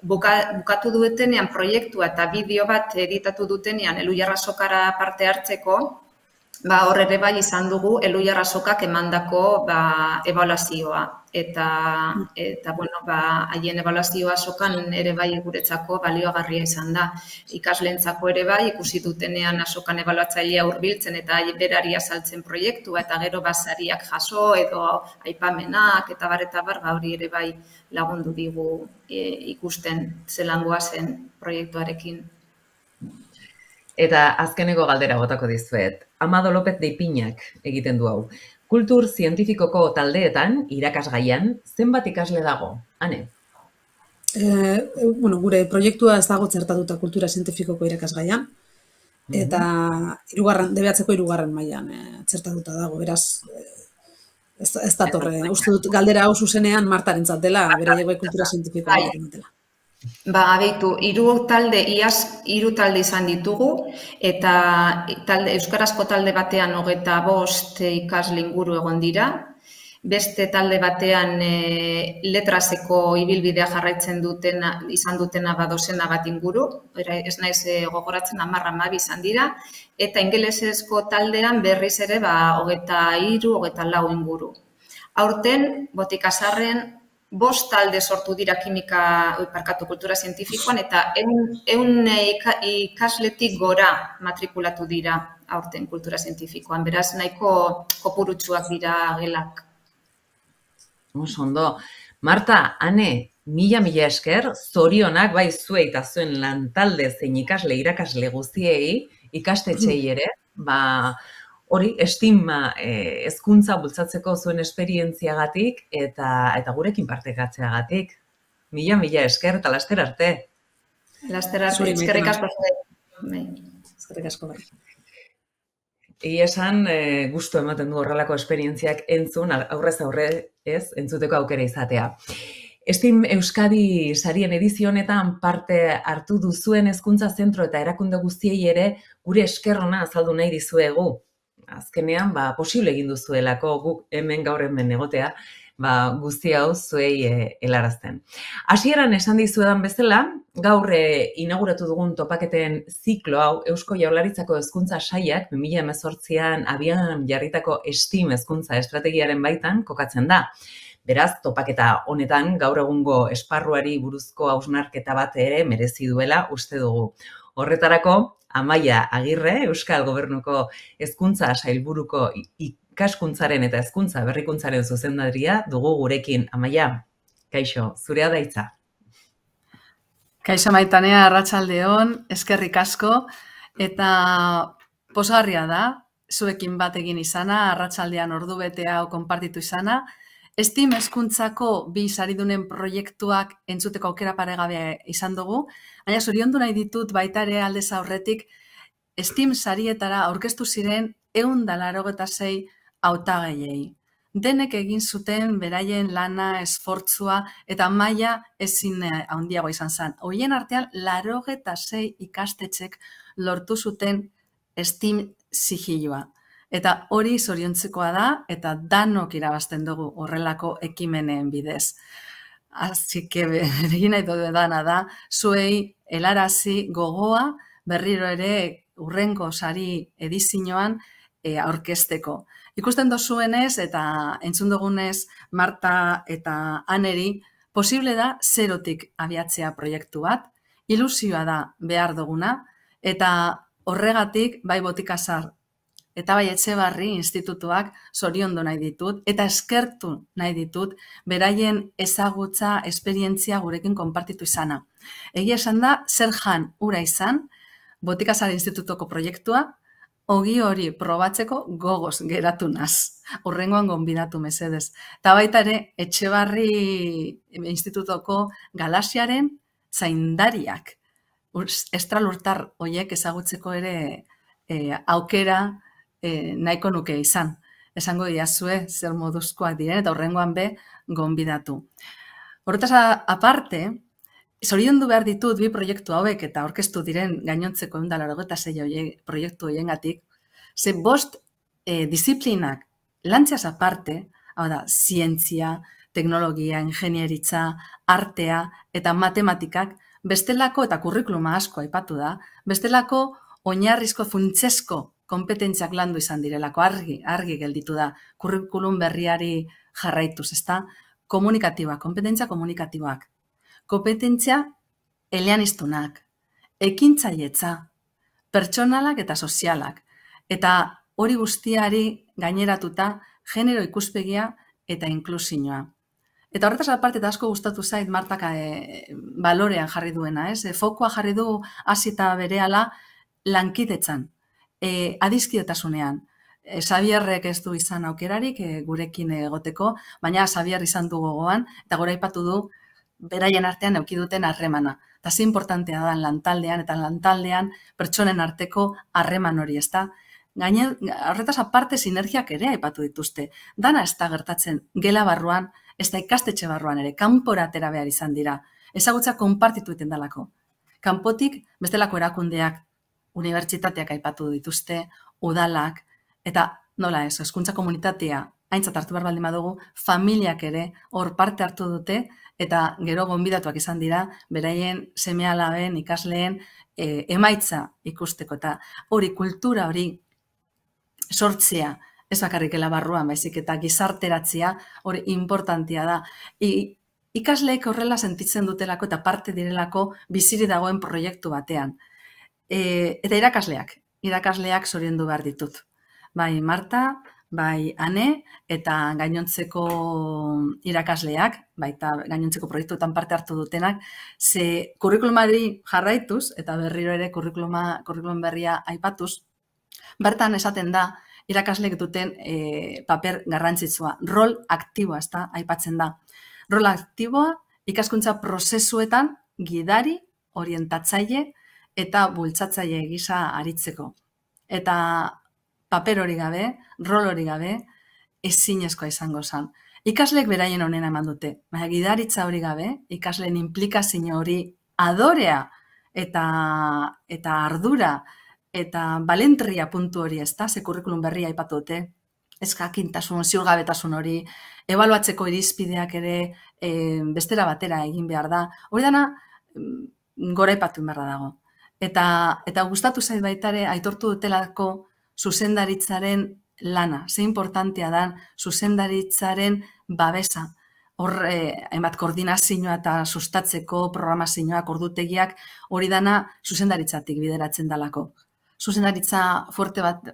Bukatu dutenean proiektua eta bideo bat editatu dutenean Elhuyar Azokara parte hartzeko, hor ere bai izan dugu Elhuyar Azokak emandako ebaluazioa. Eta haien ebaluazioa azokan ere bai guretzako baliogarria izan da. Ikasleentzako ere bai ikusi dutenean azokan ebaluatzailea hurbiltzen eta berari azaltzen proiektua eta gero sariak jaso edo aipamenak eta bar hori ere bai lagundu digu ikusten zelangoa zen proiektuarekin. Eta azkeneko galdera botako dizuet. Amado López de Ipiñak egiten du hau. Kultur zientifikoko taldeetan, irakasgaian, zenbat ikasle dago? Ane? Gure proiektua ez dago txertatuta kultura zientifikoko irakasgaian, eta DBH-ko 3. mailan txertatuta dago, beraz, ez datorre. Uste dut galdera hau zuzenean Martarentzat dela, beraiek kultura zientifikoa dela. Abeitu, 3 talde izan ditugu, eta euskarazko talde batean 25 ikasle inguru egon dira, beste talde batean letraseko ibilbidea jarraitzen izan dutena dozena bat inguru, ez naiz gogoratzen 10-12 izan dira, eta ingelesezko taldean berriz ere 23-24 inguru. Aurten, Botikasarren 5 talde sortu dira kultura zientifikoan eta 100 ikasletik gora matrikulatu dira aurten kultura zientifikoan. Beraz, nahiko kopurutsuak dira gelak. Oso ondo. Marta, Ane, mila esker, zorionak bai zuei eta zuen lantalde zein irakasle guztiei, ikastetxeei ere, hori, estima hezkuntza bultzatzeko zuen esperientziagatik eta gurekin partekatzeagatik. Mila esker eta laster arte. Laster arte, eskerrik asko. Eskerrik asko. Egia esan, gustu ematen du horrelako esperientziak aurrez aurre entzuteko aukera izatea. Estim Euskadi sarien edizio honetan parte hartu duzuen hezkuntza zentro eta erakunde guztiei ere gure esker ona azaldu nahi dizuegu. Azkenean, posible egin duzuelako guk gaur hemen egotea, guzti hau zuei helarazten. Hasieran esan dizuedan bezala, gaur inauguratu dugun topaketen ziklo hau Eusko Jaurlaritzako hezkuntza sailak 2018an abian jarritako STEAM hezkuntza estrategiaren baitan kokatzen da. Beraz, topaketa honetan gaur egungo esparruari buruzko hausnarketa bat ere merezi duela uste dugu. Horretarako, Amaia Agirre, Euskal Gobernuko Hezkuntza Sailburuko ikaskuntzaren eta hezkuntza berrikuntzaren zuzendaria dugu gurekin. Amaia, kaixo, zurea da hitza. Kaixo Maitanea, arratsalde on, eskerrik asko, eta pozgarria da, zuekin bat egin izana, arratsaldean ordubete hau konpartitu izana. STEAM hezkuntzako bi saridunen proiektuak entzuteko aukera paregabea izan dugu, baina zoriondu nahi ditut baita ere aldez aurretik STEAM sarietara aurkeztu ziren 186 hautagaiei. Denek egin zuten beraien lana, esfortzua eta maila ezin handiago izan zen. Horien artean 86 ikastetxek lortu zuten STEAM sigilua. Eta hori zoriontzekoa da eta danok irabazten dugu horrelako ekimenen bidez. Así que egin nahi dudana da, zuei helarazi gogoa berriro ere hurrengo sari edizioan aurkezteko. Ikusten dozuenez eta entzun dugunez Marta eta Aneri, posible da zerotik abiatzea proiektu bat, ilusioa da behar duguna, eta horregatik bai Botikazar eta bai Etxebarri institutuak zoriondu nahi ditut eta eskertu nahi ditut beraien ezagutza, esperientzia gurekin konpartitu izana. Egia esan da, zer jan ura izan, Botikazar institutuko proiektua, ogi hori probatzeko gogoz geratu naz. Horrengoan gonbidatu mesedez. Eta baita ere, Etxebarri institutuko galaxiaren zaindariak. Estralurtar horiek ezagutzeko ere aukera nahiko nuke izan. Esango diazue zer moduzkoak diren eta horrengoan be gonbidatu. Horretaz aparte, zoriondu behar ditut bi proiektu hauek eta aurkeztu diren gainontzeko 186 proiektu horiengatik, ze 5 disiplinak lantziaz aparte, hau da, zientzia, teknologia, ingenieritza, artea eta matematikak, bestelako eta kurrikuluma asko aipatu da, bestelako oinarrizko funtsesko kompetentziak landu izan direlako, argi gelditu da, kurrikulum berriari jarraituz, ezta? Komunikatiboak, kompetentzia komunikatiboak, kompetentzia eleaniztunak, ekintzailetza, pertsonalak eta sozialak, eta hori guztiari gaineratuta genero ikuspegia eta inklusioa. Eta horretaz aparte eta asko gustatu zait Martak balorean jarri duena, fokua jarri du hasi eta berehala lankidetzan, adiskidetasunean. Xabierrek ez du izan aukerarik gurekin egoteko, baina Xabier izan du gogoan, eta gora aipatu du beraien artean eduki duten harremana. Eta ze importantea da lantaldean, eta lantaldean pertsonen arteko harreman hori, ezta? Horretaz aparte sinergiak ere aipatu dituzte. Dana ez da gertatzen gela barruan, ez da ikastetxe barruan ere, kanpora atera behar izan dira. Ezagutza konpartitu iten dalako. Kanpotik bestelako erakundeak, unibertsitateak aipatu dituzte, udalak, eta nola ez, hezkuntza komunitatea aintzat hartu behar baldin badugu, familiak ere hor parte hartu dute, eta gero gonbidatuak izan dira, beraien seme-alaben, ikasleen emaitza ikusteko, eta hori kultura hori sortzea, ez bakarrik barruan, baizik eta gizarteratzea hori importantia da. Ikasleek horrela sentitzen dutelako eta parte direlako biziri dagoen proiektu batean. Eta irakasleak zoriondu behar ditut. Bai Marta, bai Ane, eta gainontzeko irakasleak, baita gainontzeko proiektuetan parte hartu dutenak, ze kurrikulumari jarraituz, eta berriro ere kurrikulum berria aipatuz, bertan esaten da, irakasleek duten paper garrantzitsua, rol aktiboa, ez da, aipatzen da. Rol aktiboa ikaskuntza prozesuetan gidari, orientatzaile eta bultzatzaile gisa aritzeko. Eta paper hori gabe, rol hori gabe, ezinezkoa izango zen. Ikasleek beraien honena eman dute, baina gidaritza hori gabe, ikasleen implikazio hori adorea eta ardura eta balentria puntu hori, ez da, ze kurrikulum berria aipatu dute, ez jakintasun, ziurgabetasun hori, ebaluatzeko irizpideak ere bestera batera egin behar da. Hori dana gora aipatu beharra dago. Eta gustatu zait baitare aitortu dutelako zuzendaritzaren lana, ze importantea da zuzendaritzaren babesa. Hor, hainbat koordinazioa eta sustatzeko programazioak, ordutegiak, hori dana zuzendaritzatik bideratzen dalako. Zuzendaritza fuerte bat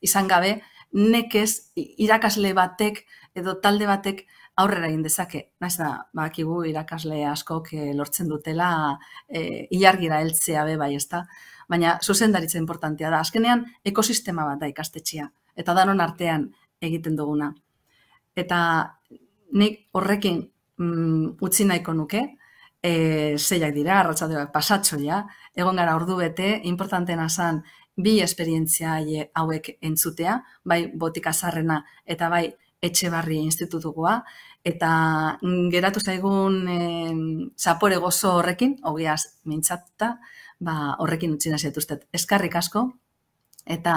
izan gabe, nekez irakasle batek edo talde batek aurrera egin dezake. Naiz da, bakigu irakasle askok lortzen dutela ilargira heltzea be bai, ezta? baina zuzendaritza importantea da. Azkenean, ekosistema bat da ikastetxea, eta danon artean egiten duguna. Eta nik horrekin utzi nahiko nuke, zeiak dira, arratsaldeak pasatxoia, egon gara ordu bete, importantena zen bi esperientzia hauek entzutea, bai Botika Zaharrena eta bai Etxebarri institutukoa, eta geratu zaigun zapore gozo horrekin, ogiaz mintzatuta, horrekin utzi nahi zaituztet. Eskerrik asko, eta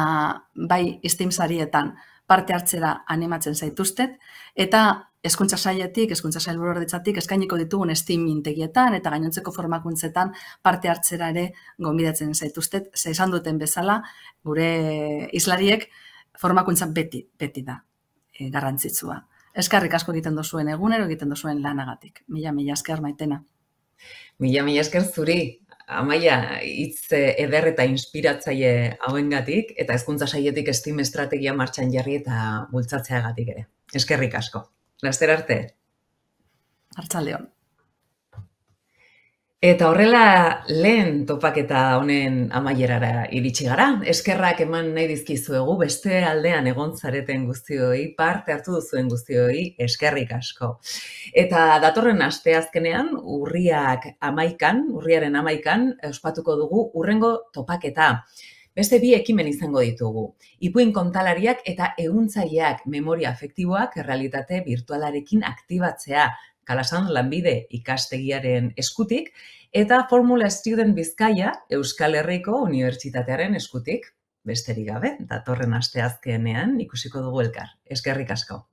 bai STEAM sarietan parte hartzera animatzen zaituztet, eta Hezkuntza Sailetik, Hezkuntza Sailburuordetzatik eskainiko ditugun STEAM mintegietan eta gainontzeko formakuntzetan parte hartzera ere gonbidatzen zaituztet, ze esan duten bezala, gure hizlariek formakuntza beti da garrantzitsua. Eskerrik asko egiten duzuen egunero, egiten duzuen lanagatik. Mila esker, Maitena. Mila esker zuri. Amaia, hitz eder eta inspiratzaile hauengatik eta Hezkuntza Sailetik STEAM estrategia martxan jarri eta bultzatzeagatik ere. Eskerrik asko. Laster arte. Arratsaldeon. Eta horrela lehen topaketa honen amaierara iritsi gara. Eskerrak eman nahi dizkizuegu beste aldean egon zareten guztioi, parte hartu duzuen guztioi, eskerrik asko. Eta datorren asteazkenean, urriaren 11, ospatuko dugu hurrengo topaketa. Beste bi ekimen izango ditugu. Ipuin kontalariak eta ehuntzaileak memoria afektiboak errealitate virtualarekin aktibatzea, Kalasan Lanbide ikastegiaren eskutik, eta Formula Student Bizkaia Euskal Herriko Unibertsitatearen eskutik. Besterik gabe, datorren asteazkenean ikusiko dugu elkar. Eskerrik asko.